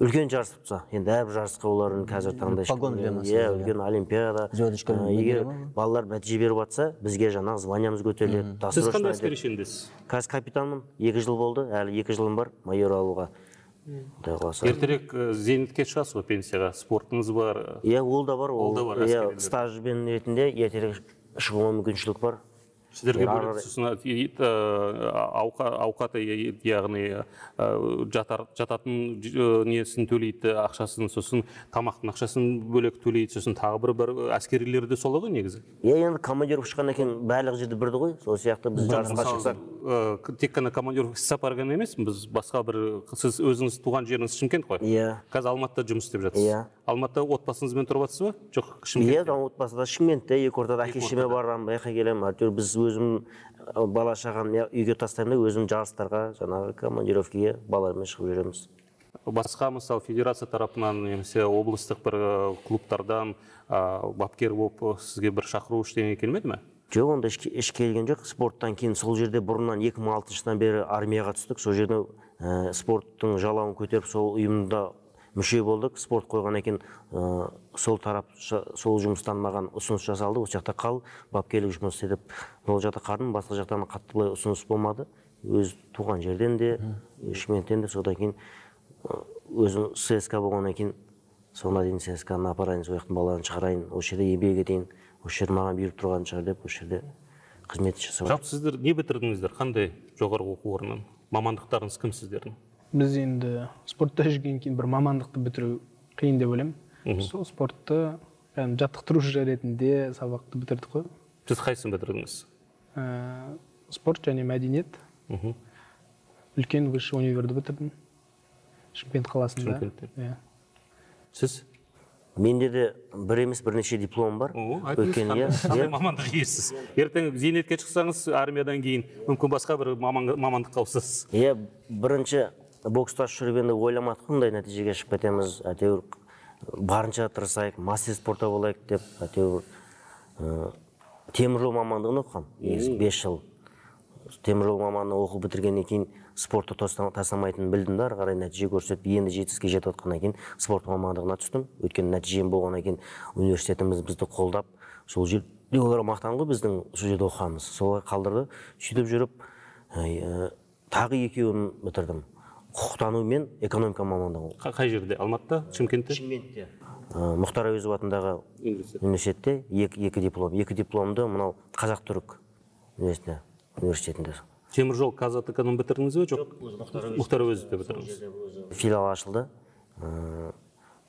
Үлкен жарыс тұтса, енді әрбір жарысқа олардың қазір таңда погон береміз. Иә, үлкен олимпиада. Егер балалар нәтиже беріп жатса, бізге жаңағы званиямыз көтеріледі. Сіз қандай әскери шендесіз? Қазір капитанмын, екі жыл болды, әлі екі жылым бар майор алуға. Ертерек зейнетке шығасыз ғой, пенсияға, спортыңыз бар. Иә, ол да бар. Ол да бар. Стажбен ретінде ертерек шығуға мүмкіншілік бар. Сіздерге бөлек сосын ауқаты, яғни жататын несін төлейді, ақшасын, сосын тамақтың ақшасын бөлек төлейді, сосын тағы бір бір әскерилерде солай ғой негізі? Иә, енді командировка шыққаннан кейін барлық жерде бірді ғой, сол сияқты біз жарысқа шықсақ. Тек қана командировка іссапар ғана емес, біз басқа бір, сіз өзіңіз туған жеріңіз Шымкент қой? Иә. Қазір Алматыда жұмыс істеп жатсыз. Иә. Алматыда отбасыңызбен тұрып жатсыз ба? Жоқ, Шымкентте? Иә, отбасыда Шымкентте, екі ортада әке-шешеме барамын, байқа келемін. Әйтеуір біз өзім бала шағам үйге тастаймын да, өзім жарыстарға, жаңағы командировкаға балалармен шығып жүреміз. Басқа мысалы федерация тарапынан немесе облыстық бір клубтардан бапкер болып сізге бір шақыру ештеңе келмеді ме? Жоқ, онда еш келген жоқ. Спорттан кейін сол жерде бұрыннан екі мың алтыншы жылдан бері армияға түстік. Сол жерде спорттың жалауын көтеріп, сол ұйымда мүше болдық. Спорт қойғаннан кейін сол тарап, сол жұмыстан маған ұсыныс жасалды. Осы жақта қал, бапкерлік жұмыс істеп, ол жақта қардым. Басқа жақтан қатты былай ұсыныс болмады. Өз туған жерден де, Шымкенттен де, содан кейін өзім ССК болғаннан кейін, соңына дейін ССК-ны апарайын, сол жақтың балаларын шығарайын, осы жерде еңбек етейін, осы жер маған беріп тұрған шығар деп, осы жерде қызмет жасап. Жалпы сіздер не бітірдіңіздер? Қандай жоғарғы оқу орнынан? Мамандықтарыңыз кім сіздердің? Біз енді спортта жүргеннен кейін бір мамандықты бітіру қиын деп ойлаймын. Сол спортты жаттықтырушы ретінде сабақты бітірдік қой. Сіз қайсысын бітірдіңіз? Спорт және мәдениет. Үлкен высший универді бітірдім. Шымкент қаласында. Шымкентте. Сіз? Менде де бір емес бірнеше диплом бар. Қандай мамандық иесіз? Ертең зейнетке шықсаңыз, армиядан кейін мүмкін басқа бір мамандыққа ауысасыз. Иә, бірінші бокста жүріп енді ойламадық, қандай нәтижеге шығып кетеміз. Әйтеуір барынша тырысайық, мастер спортта болайық деп, әйтеуір теміржол мамандығын оқығам. бес жыл теміржол мамандығын оқып бітіргеннен кейін спортты тастамайтынын білдім да, ары қарай нәтиже көрсетіп, енді жетістікке жетіп отқаннан кейін спорт мамандығына түстім. Өйткені нәтижем болғаннан кейін университетіміз бізді қолдап, сол жерде олар мақтан ғой біздің сол жерде оқығанымыз. Солай қалдырды. Сөйтіп жүріп, тағы екеуін бітірдім. Құқықтану мен экономика мамандығы. Қай жерде? Алматыда, Шымкентте? Шымкентте. Мұхтар Әуезов атындағы университетте екі диплом. Екі дипломды мынау Қазақ-Түрік университетінде. Теміржол Қазатыканың бітірдіңіз бе? Жоқ, Мұхтар Әуезовте бітірдіңіз. Филиал ашылды.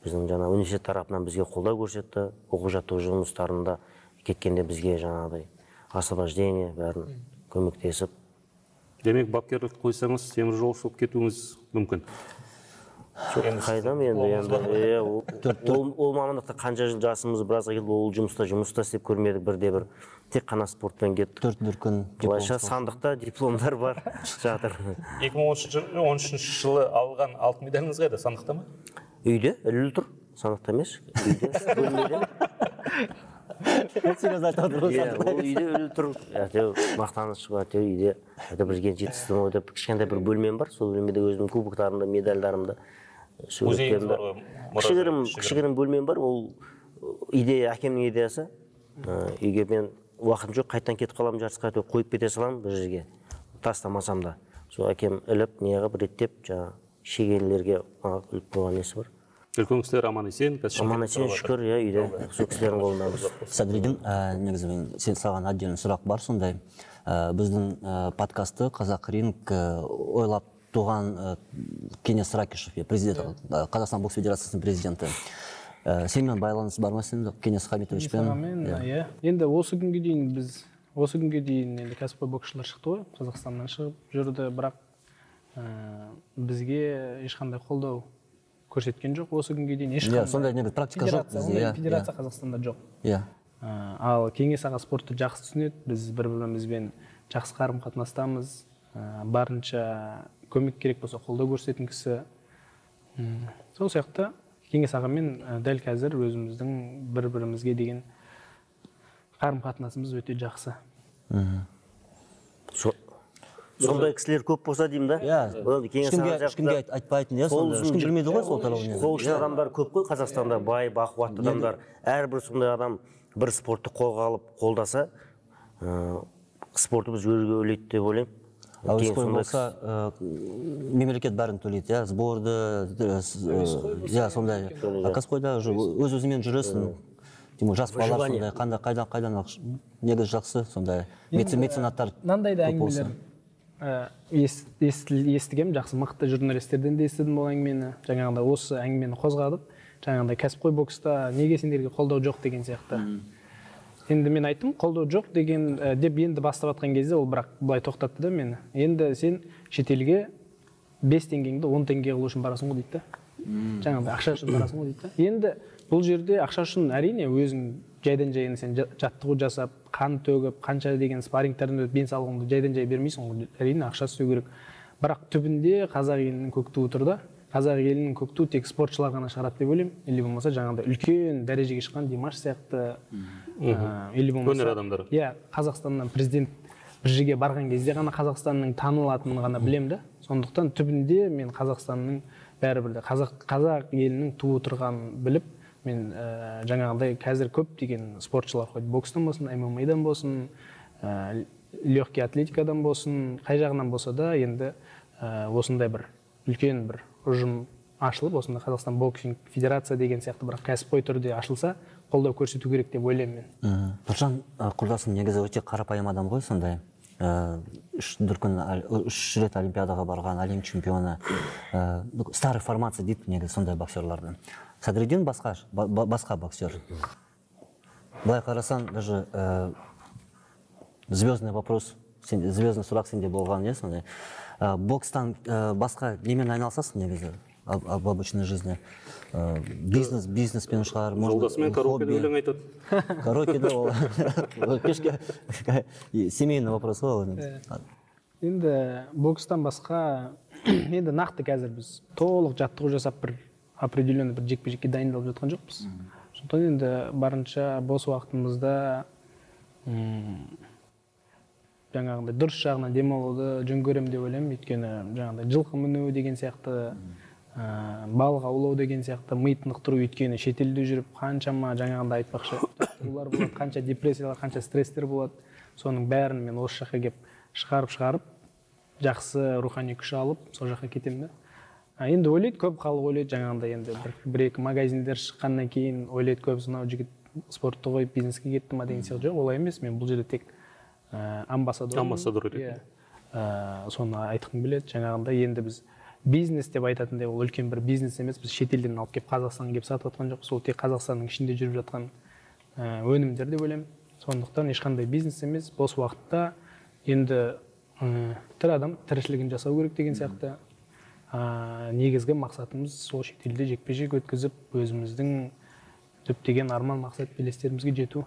Біздің жаңа университет тарапынан бізге қолдау көрсетті. Оқу-жаттығу жұмыстарында кеткенде бізге жаңағыдай освобождение бәрін көмектесіп. Демек, бапкерлік қойсаңыз, теміржол шығып кетуіңіз мүмкін. Қайдам енді, ол мамандықта қанша жыл жасымыз біразға келді, ол жұмыста жұмыста істеп көрмедік бірде бір. Тек қана спортпен кеттік. Төрт дүркін дипломдар. Сандықта дипломдар бар жатыр. екі мың он үшінші жылы алған алтын медаліңіз қайда? Сандықта ма? Үйде, ілулі тұр. Сандықта емес, үйде, бөлмеде. Ол үйде ілулі тұр. Мақтаныш бар, үйде. Бірген жетістім ойдап, кішкентай бір бөлмем бар. Сол бөлмеде өзімнің кубоктарымда, медальдарымда, музейіңіз бар ғой? Кішігірім бөлмем бар. Ол идея, әкемнің идеясы. Үйге мен уақытым жоқ, қайттан кетіп қалам жарысқа, қойып кете салам бір жерге, тастамасам да. Сол әкем іліп, неғып, реттеп, жаңа шегелілерге іліп қойған несі бар. Үлкен кісілер аман есен? Аман есен, шүкір, үйде, сол кісілердің қолындамыз. Садридин, негізі сен саған отдельный сұрақ бар сондай. Біздің подкасты Қазақ ринг ойлап туған Кенес Ракишев, президент, Қазақстан бокс федерациясының президенті. Сенмен байланыс бар ма сен, Кенес Хамитовичпен? Енді осы күнге дейін біз, осы күнге дейін енді кәсіпқой боксшылар шықты ғой, Қазақстаннан шығып жүрді, бірақ бізге ешқандай қолдау көрсеткен жоқ осы күнге дейін. Иә, сондай негізі практика жоқ бізде. Федерация Қазақстанда жоқ. Иә. Ал Кеңес аға спортты жақсы түсінеді, біз бір-бірімізбен жақсы қарым-қатынастамыз. барынша көмек керек болса қолдау көрсететін кісі. Сол сияқты Кеңес ағамен дәл қазір өзіміздің бір-бірімізге деген қарым-қатынасымыз өте жақсы. Сондай кісілер көп болса деймін да? Ешкімге айтпайтын, ешкім білмейді ғой сол тарауын. Қол ұшын адамдар көп қой Қазақстанда, бай, бақуатты адамдар. Әрбір сондай адам бір спортты қолға алып қолдаса, спортымыз өрге өрлейді деп ойлаймын. Әуесқой болса, мемлекет бәрін төлейді, сборды, сондай. Кәсіпқойда өз-өзімен жүресің. Жас балалар сондай, қайдан қайдан негіз жақсы, сондай меценаттар көп болсын. Естігем, жақсы мықты журналистерден де естідім ол әңгімені. Жаңағында осы әңгімені қозғадып, жаңағында кәсіпқой бокста неге сендерге қолдау жоқ деген сияқты. Енді мен айттым, қолдау жоқ деген деп енді бастап атқан кезде ол бірақ былай тоқтатты да мені. Енді сен шетелге бес теңгеңді он теңге қылу үшін барасың ғой дейді да. Жаңағында ақша үшін барасың ғой дейді да. Енді бұл жерде ақша үшін әрине өзің жайдан жайын сен жаттығу жасап, қан төгіп, қанша деген спаррингтерден өтіп денсаулығыңды жайдан жай бермейсің ғой. Әрине ақша істеу керек. Бірақ түбінде қазақ елінің көк туы тұр да. Қазақ елінің көк туы тек спортшылар ғана шығарады деп ойлаймын. Или болмаса жаңағыдай үлкен дәрежеге шыққан Димаш сияқты, или болмаса өнер адамдары. Иә, Қазақстаннан президент бір жерге барған кезде ғана Қазақстанның танылатынын ғана білемін да. Сондықтан түбінде мен Қазақстанның бәрібір де қазақ елінің туы тұрғанын біліп, мен жаңағыдай қазір көп деген спортшылар қойды. Бокстан болсын, эм эм а-дан болсын, легкий атлетикадан болсын, қай жағынан болса да енді осындай бір үлкен бір ұжым ашылып, осында Қазақстан боксинг федерация деген сияқты бір кәсіпқой түрде ашылса, қолдау көрсету керек деп ойлаймын мен. Нұржан құрдасым негізі өте қарапайым адам ғой, сондай. Үш дүркін, үш рет олимпиадаға барған, әлем чемпионы. Старый формация дейді негізі сондай боксерларды. Садриддин басқа боксер. Былай қарасан, даже звездный вопрос, звездный сұрақ сенде болған, не сондай. Бокстан басқа немен айналысасың негізі в обычной жизни? Бизнес, бизнеспен шығар, жолдасымен караокеде өлең айтады. Караокеде ол кешке семейный вопрос ғой. Енді бокстан басқа, енді нақты қазір біз толық жаттығу жасап бір определенный бір жекпе-жекке дайындалып жатқан жоқпыз. Сондықтан енді барынша бос уақытымызда жаңағындай дұрыс жағынан демалуды жөн көремін деп ойлаймын. Өйткені жаңағындай жылқы міну деген сияқты, балық аулау деген сияқты ми тынықтыру, өйткені шетелде жүріп қаншама жаңағындай айтпақшы жаттығулар болады, қанша депрессиялар, қанша стресстер болады. Соның бәрін мен осы жаққа келіп шығарып-шығарып, жақсы рухани күш алып, сол жаққа кетемін да. Енді ойлайды, көп халық ойлайды, жаңағындай енді бір-екі магазиндер шыққаннан кейін ойлайды, көп мынау жігіт спортты қойып бизнеске кетті ма деген сияқты. Жоқ, олай емес. Мен бұл жерде тек амбассадор. Амбассадор ретінде. Соны айтқым келеді. Жаңағындай енді біз бизнес деп айтатындай ол үлкен бір бизнес емес. Біз шетелден алып келіп Қазақстанға келіп сатып жатқан жоқпыз. Ол тек Қазақстанның ішінде жүріп жатқан өнімдер деп ойлаймын. Сондықтан ешқандай бизнес емес. Бос уақытта енді тірі адам тіршілігін жасау керек деген сияқты. Негізгі мақсатымыз сол шетелде жекпе-жек өткізіп, өзіміздің көптеген арман мақсат белестерімізге жету.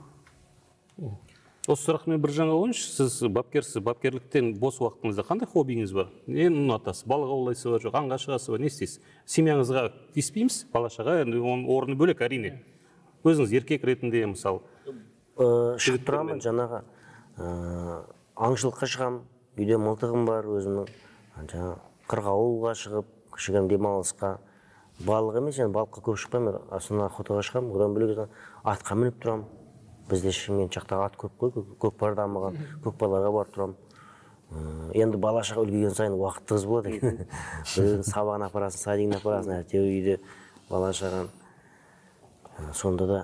Осы сұрақмен бір жаңа ойыншы, сіз бапкерсіз, бапкерліктен бос уақытыңызда қандай хоббиіңіз бар? Нені ұнатасыз? Балық аулайсыз ба, жоқ, аңға шығасыз ба, не істейсіз? Семьяңызға тиіспейміз, бала-шаға, оның орны бөлек әрине. Өзіңіз еркек ретінде, мысалы. Шығып тұрамын, жаңағы аңшылыққа шығам, үйде мылтығым бар өзімнің. Қырғауылға шығып, кішігірім демалысқа. Балық емес, балыққа көп шықпаймын, астына охотаға шығам, одан бөлек атқа мініп тұрам. Бізде Шымкент жақтағы ат көп қой, көкпар дамыған, көкпарларға барып тұрам. Енді бала-шаға үлкейген сайын уақыт тығыз болады екен. Біреудің сабағына апарасың, садигіне апарасың, әйтеуір үйде бала-шаған. Сонда да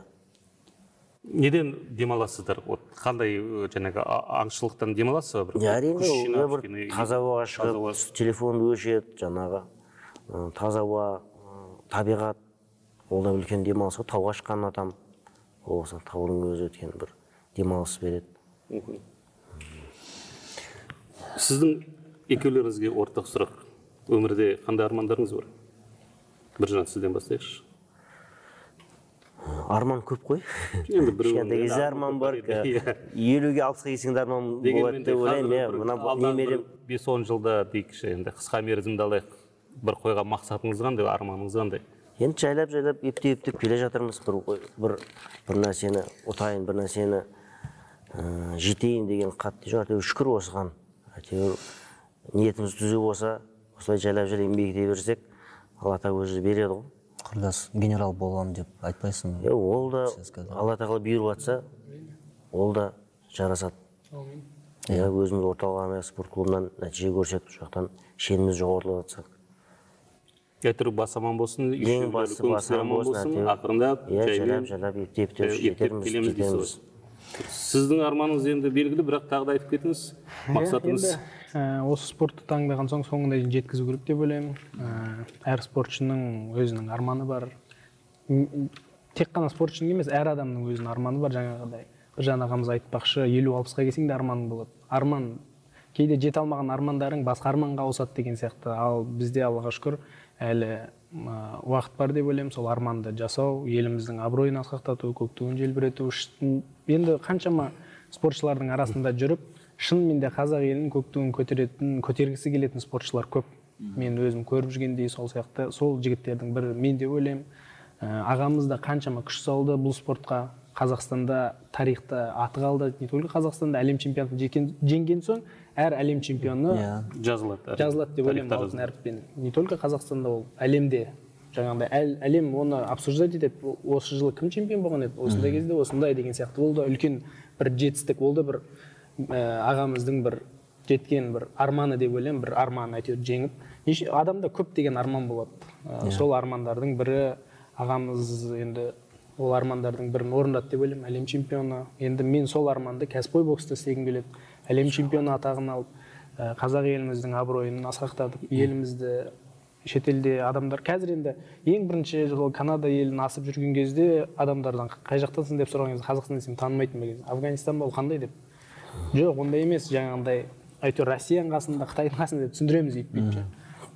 неден демаласыздар? Қандай жаңағы аңшылықтан демаласыз ба? Әрине, таза ауаға шығып, телефонды өшет, жаңағы таза ауа, табиғат, ол да үлкен демалыс ғой. Тауға шыққан атам, олса таудың өзі өткен бір демалыс береді. Сіздің екеулеріңізге ортақ сұрақ. Өмірде қандай армандарыңыз бар? Біржан, сізден бастайықшы. Арман көп қой. Енді біреу кішкентай кезде арман бар. елуге алпысқа келсең де арман болады деп ойлаймын. Мына немерем бес он жылда дейікші, енді қысқа мерзімді алайық. Бір қойған мақсатыңыз қандай, арманыңыз қандай? Енді жайлап-жайлап, ептеп-ептеп келе жатырмыз. Бір нәрсені ұтайын, бір нәрсені жетейін деген қатты жоқ. Шүкір осыған. Ниетіміз түзу болса, осылай жайлап-жайлап еңбек ете берсек, Алла тағала өзі береді ғой. Құрдас, генерал боламын деп айтпайсың. Ол да Алла тағала бұйырып жатса, ол да жарасады. Өзіміз орталық арнайы спорт клубынан нәтиже көрсек, жақтан шеніміз жоғарылап жатсақ. Әйтеуір бас аман болсын, ең басы бас аман болсын, ақырындап, жайлап-жайлап ептеп-ептеп жетеміз. Сіздің арманыңыз енді белгілі, бірақ тағы да айтып кетіңіз, мақсатыңыз? Осы спортты таңдаған соң соңында жеткізу керек деп ойлаймын. Әр спортшының өзінің арманы бар. Тек қана спортшының емес, әр адамның өзінің арманы бар. Жаңағыдай Біржан ағамыз айтпақшы, елу алпысқа келсең де арманың болады. Арман кейде жете алмаған армандарың басқа арманға ауысады деген сияқты. Ал бізде Аллаға шүкір әлі уақыт бар деп ойлаймын. Сол арманды жасау, еліміздің абыройын асқақтату, көк туын желбірету. Енді қаншама спортшылардың арасында жүріп, шынымен де қазақ елінің көк туын көтеретін, көтергісі келетін спортшылар көп. Мен өзім көріп жүргендей сол сияқты, сол жігіттердің бірі мен де ойлаймын. Ағамыз да қаншама күш салды бұл спортқа. Қазақстанда тарихта аты қалды. Не только Қазақстанда әлем чемпионатын жеңген соң, әр әлем чемпионы жазылады. Жазылады деп ойлаймын алтын әріппен. Не только Қазақстанда, ол әлемде. Жаңағыдай әлем оны обсуждать етеді. Осы жылы кім чемпион болған еді? Осындай кезде осындай деген сияқты. Ол да үлкен бір жетістік, ол да бір ағамыздың бір жеткен бір арманы деп ойлаймын. Бір арман әйтеуір жеңіп. Адамда көп деген арман болады. Сол армандардың бірі ағамыз енді ол армандардың бірін орындады деп ойлаймын. Әлем чемпионы. Енді мен сол арманды кәсіпқой бокста істегім келеді. Әлем чемпионы атағын алып, қазақ еліміздің абыройын асқақтатып, елімізді шетелде адамдар қазір енді ең бірінші жол Канада елін асып жүрген кезде адамдардан қай жақтансың деп сұраған кезде Қазақстан десем танымайтын ба кезде. Афганистан ба, ол қандай деп. Жоқ, ондай емес, жаңағындай әйтеуір Россияның қасында, Қытайдың қасында деп түсіндіреміз дейді.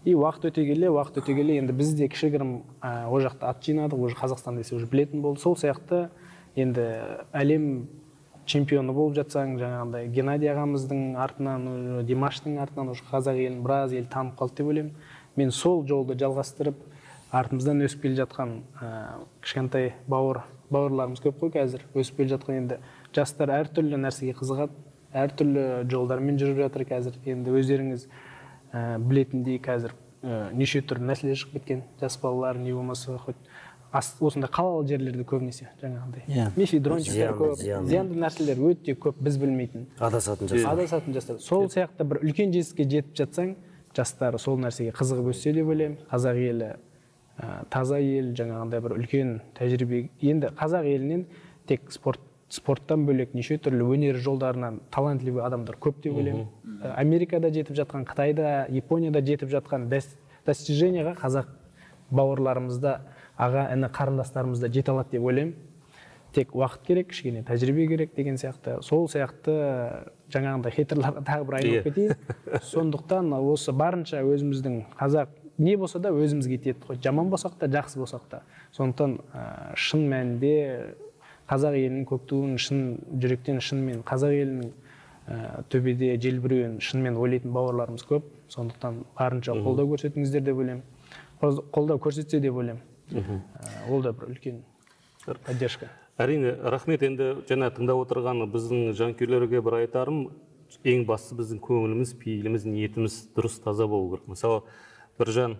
И уақыт өте келе, уақыт өте келе енді біз де кішігірім о жақта ат жинадық, уже Қазақстан десе уже білетін болды. Сол сияқты енді әлем чемпионы болып жатсаң, жаңағындай Геннадий ағамыздың артынан, Димаштың артынан уже қазақ елін біраз ел танып қалды деп ойлаймын. Мен сол жолды жалғастырып, артымыздан өсіп келе жатқан кішкентай бауыр бауырларымыз көп қой қазір. Өсіп келе жатқан енді жастар әртүрлі нәрсеге қызығады, әртүрлі жолдармен жүріп жатыр қазір. Енді өздеріңіз білетіндей қазір неше түрлі нәрселер шығып кеткен. Жас балалар не болмаса хоть осындай қалалы жерлерде көбінесе жаңағындай мефедрончиктер көп, зиянды нәрселер өте көп, біз білмейтін. Адасатын жастар. Адасатын жастар. Сол сияқты бір үлкен жетістікке жетіп жатсаң, жастар сол нәрсеге қызығып өссе деп ойлаймын. Қазақ елі таза ел, жаңағындай бір үлкен тәжірибе. Енді қазақ елінен тек спорт спорттан бөлек неше түрлі өнер жолдарынан талантливый адамдар көп деп ойлаймын. Америкада жетіп жатқан, Қытайда, Японияда жетіп жатқан достиженияға қазақ бауырларымызда, аға, іні қарындастарымызда жете алады деп ойлаймын. Тек уақыт керек, кішкене тәжірибе керек деген сияқты. Сол сияқты жаңағындай хейтерларға тағы бір айналып кетейін. Сондықтан осы барынша өзіміздің қазақ не болса да өзімізге тиеді ғой. Жаман болсақ та, жақсы болсақ та. Сондықтан шын мәнінде қазақ елінің көк туын шын жүректен шынымен қазақ елінің төбеде желбіреуін шынымен ойлайтын бауырларымыз көп. Сондықтан барынша қолдау көрсетіңіздер деп ойлаймын. Қолдау көрсетсе деп ойлаймын. Ол да бір үлкен поддержка. Әрине, рахмет. Енді жаңа тыңдап отырған біздің жанкүйерлерге бір айтарым, ең бастысы біздің көңіліміз, пейіліміз, ниетіміз дұрыс таза болу керек. Мысалы, Біржан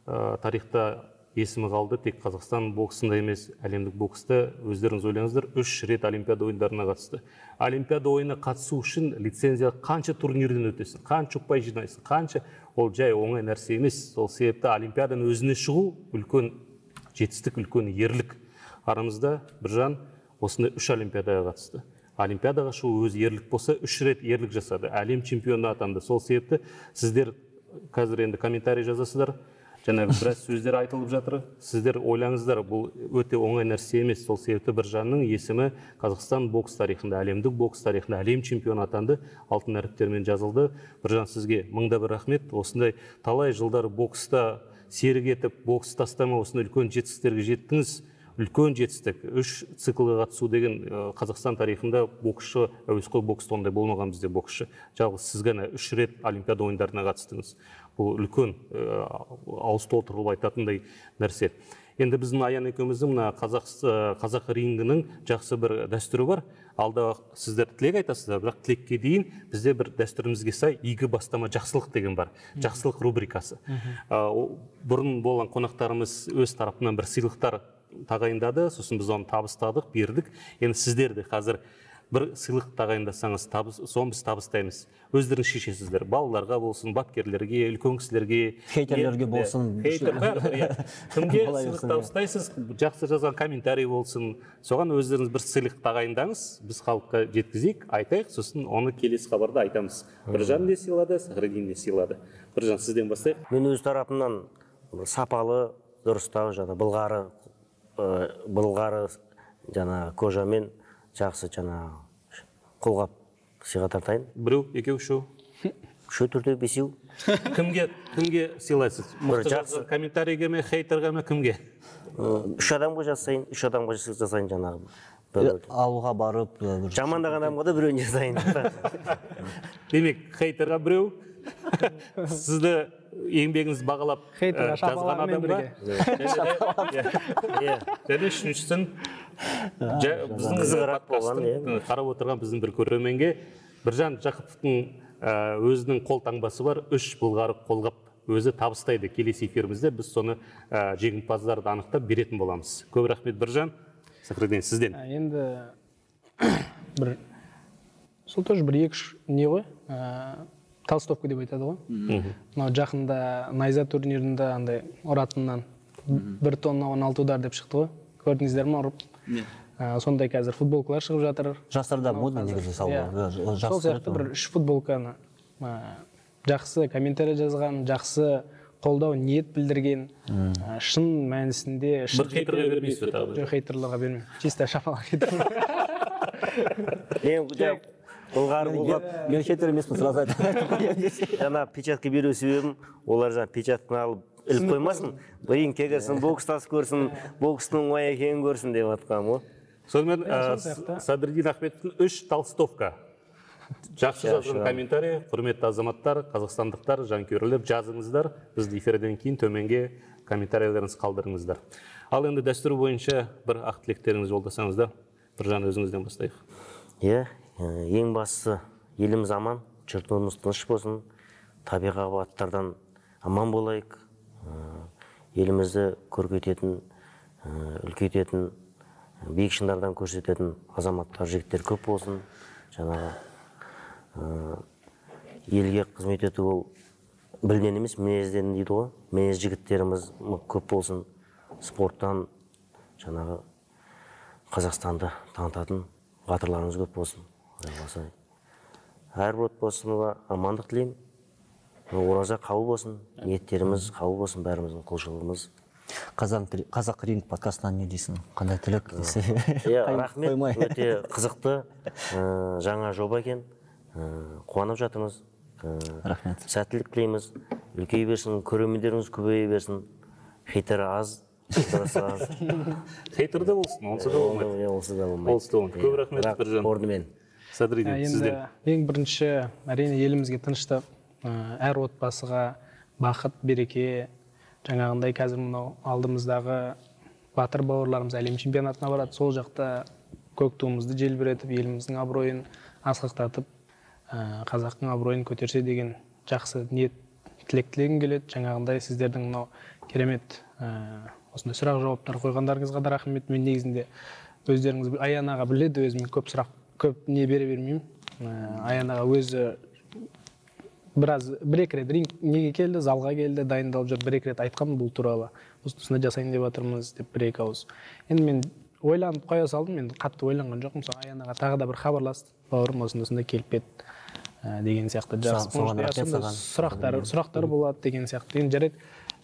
тарихта есімі қалды, тек Қазақстан боксында емес, әлемдік бокста өздеріңіз ойлаңыздар, үш рет Олимпиада ойындарына қатысты. Олимпиада ойынына қатысу үшін лицензия қанша турнирден өтесің, қанша ұпай жинайсың, қанша, ол жай оңай нәрсе емес. Сол себепті Олимпиаданың өзіне шығу үлкен жетістік, үлкен ерлік. Арамызда Біржан осындай үш Олимпиадаға қатысты. Олимпиадаға шығу өз ерлік болса, үш рет ерлік жасады, әлем чемпионы атанды. Сол себепті сіздер қазір енді комментарий жазасыздар, жаңағы біраз сөздер айтылып жатыр. Сіздер ойлаңыздар, бұл өте оңай нәрсе емес. Сол себепті Біржанның есімі Қазақстан бокс тарихында, әлемдік бокс тарихында әлем чемпионы атанды, алтын әріптермен жазылды. Біржан, сізге мыңда бір рахмет. Осындай талай жылдар бокста серік етіп, бокс тастама, осындай үлкен жетістіктерге жеттіңіз. үлкен жетістік. Үш циклға қатысу деген Қазақстан тарихында боксшы, әуесқой бокста ондай болмаған бізде боксшы. Жалғыз сіз ғана үш рет Олимпиада ойындарына қатыстыңыз. Бұл үлкен ауыз толтырылып айтатындай нәрсе. Енді біздің Аян екеуміздің мына қазақ, қазақ рингінің жақсы бір дәстүрі бар. Алда сіздер тілек айтасыздар, бірақ тілекке дейін бізде бір дәстүрімізге сай игі бастама жақсылық деген бар. Жақсылық рубрикасы. Бұрын болған қонақтарымыз өз тарапынан бір сыйлықтар тағайындады, сосын біз оны табыстадық, бердік. Енді сіздер де қазір бір сыйлық тағайындасаңыз, соны біз табыстаймыз. Өздеріңіз шешесіздер. Балаларға болсын, бапкерлерге, үлкен кісілерге, хейтерлерге болсын. Хейтер бәрі. Кімге сыйлық табыстайсыз, жақсы жазған комментарий болсын. Соған өздеріңіз бір сыйлық тағайындаңыз, біз халыққа жеткізейік, айтайық, сосын оны келесі хабарда айтамыз. Біржан не сыйлады, Сахриддин не сыйлады. Біржан, сізден бастайық. Мен өз тарапымнан сапалы, дұрыстау, жана былғары, былғары жана кожамен жақсы жана қолғап сыйға тартайын. Біреу, екеу, үшеу? Үшеу, төртеу, бесеу. Кімге, кімге сыйлайсыз? Мықты жақсы комментарийге ме, хейтерге ме, кімге? Үш адамға жасайын, үш адамға жасайын жанағы. Ауылға барып, жамандаған адамға да біреуін жасайын. Демек, хейтерға біреу, сізді еңбегіңіз бағалап жазған адамға. Және үшіншісін біздің подкастың қарап отырған біздің бір көрерменге Біржан Жақыповтың өзінің қол таңбасы бар, үш былғары қолғап өзі табыстайды. Келесі эфирімізде біз соны жеңімпаздарды анықтап беретін боламыз. Көп рахмет Біржан. Сахриддин, сізден. Енді бір сол тоже бір екі не ғой, толстовка деп айтады ғой. Мынау жақында найза турнирінде андай ұратыннан бір тонна он алты удар деп шықты ғой. Көрдіңіздер ме ұрып? Сондай қазір футболкалар шығып жатыр. Жастарда мода негізі салды. Сол сияқты бір үш футболканы жақсы комментарий жазған, жақсы қолдау ниет білдірген, шын мәнісінде... Бір хейтерға бермейсіз бе тағы? Жоқ, хейтерларға бермеймін. Чисто шапалақ хейтер. Бұлғары бұлғап, мен хейтер емеспін, сразу айтып. Жана печатка беру себебім, олар жаңа печатканы алып іліп қоймасын, ринг кегірсін, бокстас көрсін, бокстың оңай екенін көрсін деп атқам ғой. Сонымен Сахриддин Ахметовтың үш толстовка. Жақсы жазған комментарий, құрметті азаматтар, қазақстандықтар, жанкүйерлер, жазыңыздар. Бізді эфирден кейін төменге комментарийлеріңіз қалдырыңыздар. Ал енді дәстүр бойынша бір ақ тілектеріңіз жолдасаңыздар. Біржан, өзіңізден бастайық. Иә, ең бастысы еліміз аман, жұртымыз тыныш болсын, табиғи апаттардан аман болайық. Елімізді көркейтетін, үлкейтетін, биік шыңдардан көрсететін азаматтар, жігіттер көп болсын. Жаңағы елге қызмет ету ол білден емес, мінезден дейді ғой. Мінез жігіттеріміз көп болсын. Спорттан жаңағы Қазақстанды танытатын батырларымыз көп болсын. Әрбір отбасына амандық тілеймін. Ораза қабыл болсын, ниеттеріміз қабыл болсын, бәріміздің құлшылығымыз. Қазақ ринг подкастынан не дейсің? Қандай тілек десе? Рахмет, өте қызықты жаңа жоба екен. Қуанып жатырмыз. Рахмет. Сәттілік тілейміз. Үлкей берсін, көрермендеріңіз көбейе берсін. Хейтері аз, дұрысы аз. Хейтерде болсын, онсыз да болмайды. Онсыз да болмайды. Көп рахмет Біржан. Орнымен. Сахриддин, сізден. Ең бірінші, әрине елімізге тыныштық, әр отбасыға бақыт, береке, жаңағындай қазір мынау алдымыздағы батыр бауырларымыз әлем чемпионатына барады. Сол жақта көк туымызды желбіретіп, еліміздің абыройын асқақтатып, қазақтың абыройын көтерсе деген жақсы ниет тілек тілегім келеді. Жаңағындай сіздердің мынау керемет осындай сұрақ жауаптар қойғандарыңызға да рахмет. Мен негізінде өздеріңіз Аян аға біледі, өзім көп сұрақ көп не бере бермеймін. Аян аға өзі біраз бір-екі рет ринг неге келді, залға келді, дайындалып жүр, бір-екі рет айтқан бұл туралы. Осындай жасайын деп жатырмыз деп бір-екі ауыз. Енді мен ойланып қоя салдым, мен қатты ойланған жоқпын. Мысалы Аян аға тағы да бір хабарласты, бауырым осындай келіп еді деген сияқты сұрақтар сұрақтар болады деген сияқты. Енді жарайды,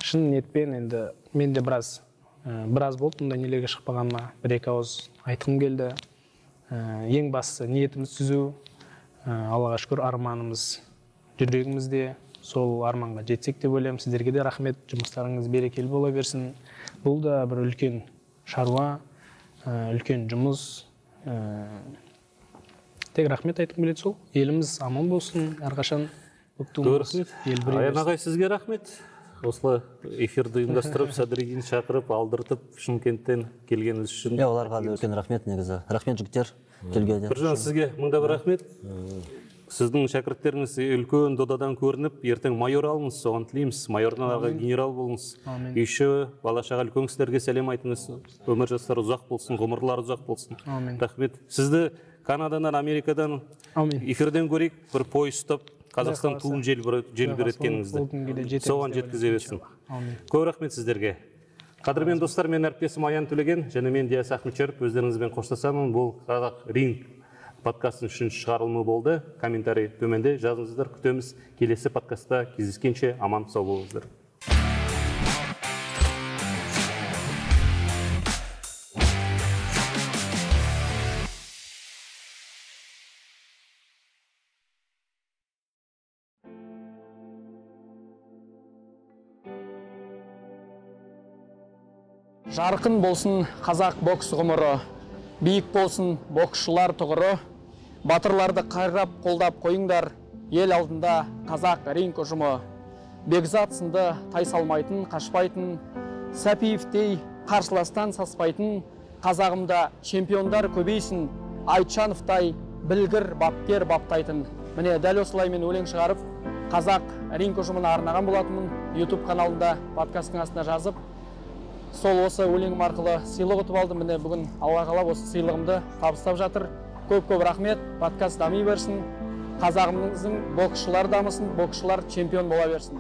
шын ниетпен енді мен де біраз біраз болды мұндай нелерге шықпағаныма, бір-екі ауыз айтқым келді. Ең бастысы ниетіміз түзу, Аллаға шүкір арманымыз жүрегімізде, сол арманға жетсек деп ойлаймын. Сіздерге де рахмет, жұмыстарыңыз берекелі бола берсін. Бұл да бір үлкен шаруа, үлкен жұмыс. Тек рахмет айтқым келеді сол. Еліміз аман болсын, әрқашан рахмет. Аян ағай, сізге рахмет. Осылай эфирді ұйымдастырып, Садридин шақырып, алдыртып, Шымкенттен келгеніңіз үшін. Иә, оларға да үлкен рахмет негізі. Рахмет жігіттер келгенде. Біржан, сізге мыңда бір рахмет. Сіздің шәкірттеріңіз үлкен додадан көрініп, ертең майор алыңыз, соған тілейміз. Майордан аға генерал болыңыз. Үйші, бала-шаға үлкен кісілерге сәлем айтыңыз. Өмір жастары ұзақ болсын, ғұмырлар ұзақ болсын. Рахмет. Сізді Канададан, Америкадан эфирден көрейік, бір пойыз ұстап, Қазақстан туын желбіреткеніңізді. Соған жеткізе берсін. Көп рахмет сіздерге. Қадірмен достар, мен әріптесім Аян Төлеген, және мен Диас Ахметшеріп өздеріңізбен қоштасамын. Бұл Қазақ Ринг подкастының үшінші шығарылымы болды. Комментарий төменде жазыңыздар, күтеміз. Келесі подкастта кездескенше аман сау болыңыздар. Жарқын болсын қазақ бокс ғұмыры, биік болсын боксшылар тұғыры, батырларды қайрап қолдап қойыңдар, ел алдында қазақ ринг ұжымы. Бекзат сынды тайсалмайтын, қашпайтын, Сәпиевтей қарсыластан саспайтын, қазағымда чемпиондар көбейсін, Айтжановтай білгір бапкер баптайтын. Міне дәл осылай мен өлең шығарып, қазақ ринг ұжымына арнаған болатынмын. YouTube каналында подкасттың астына жазып, сол осы өлеңім арқылы сыйлық ұтып алдым. Міне бүгін Алла қалап осы сыйлығымды табыстап жатыр. Көп-көп рахмет. Подкаст дами берсін. Қазағымыздың боксшылар дамысын, боксшылар чемпион бола берсін.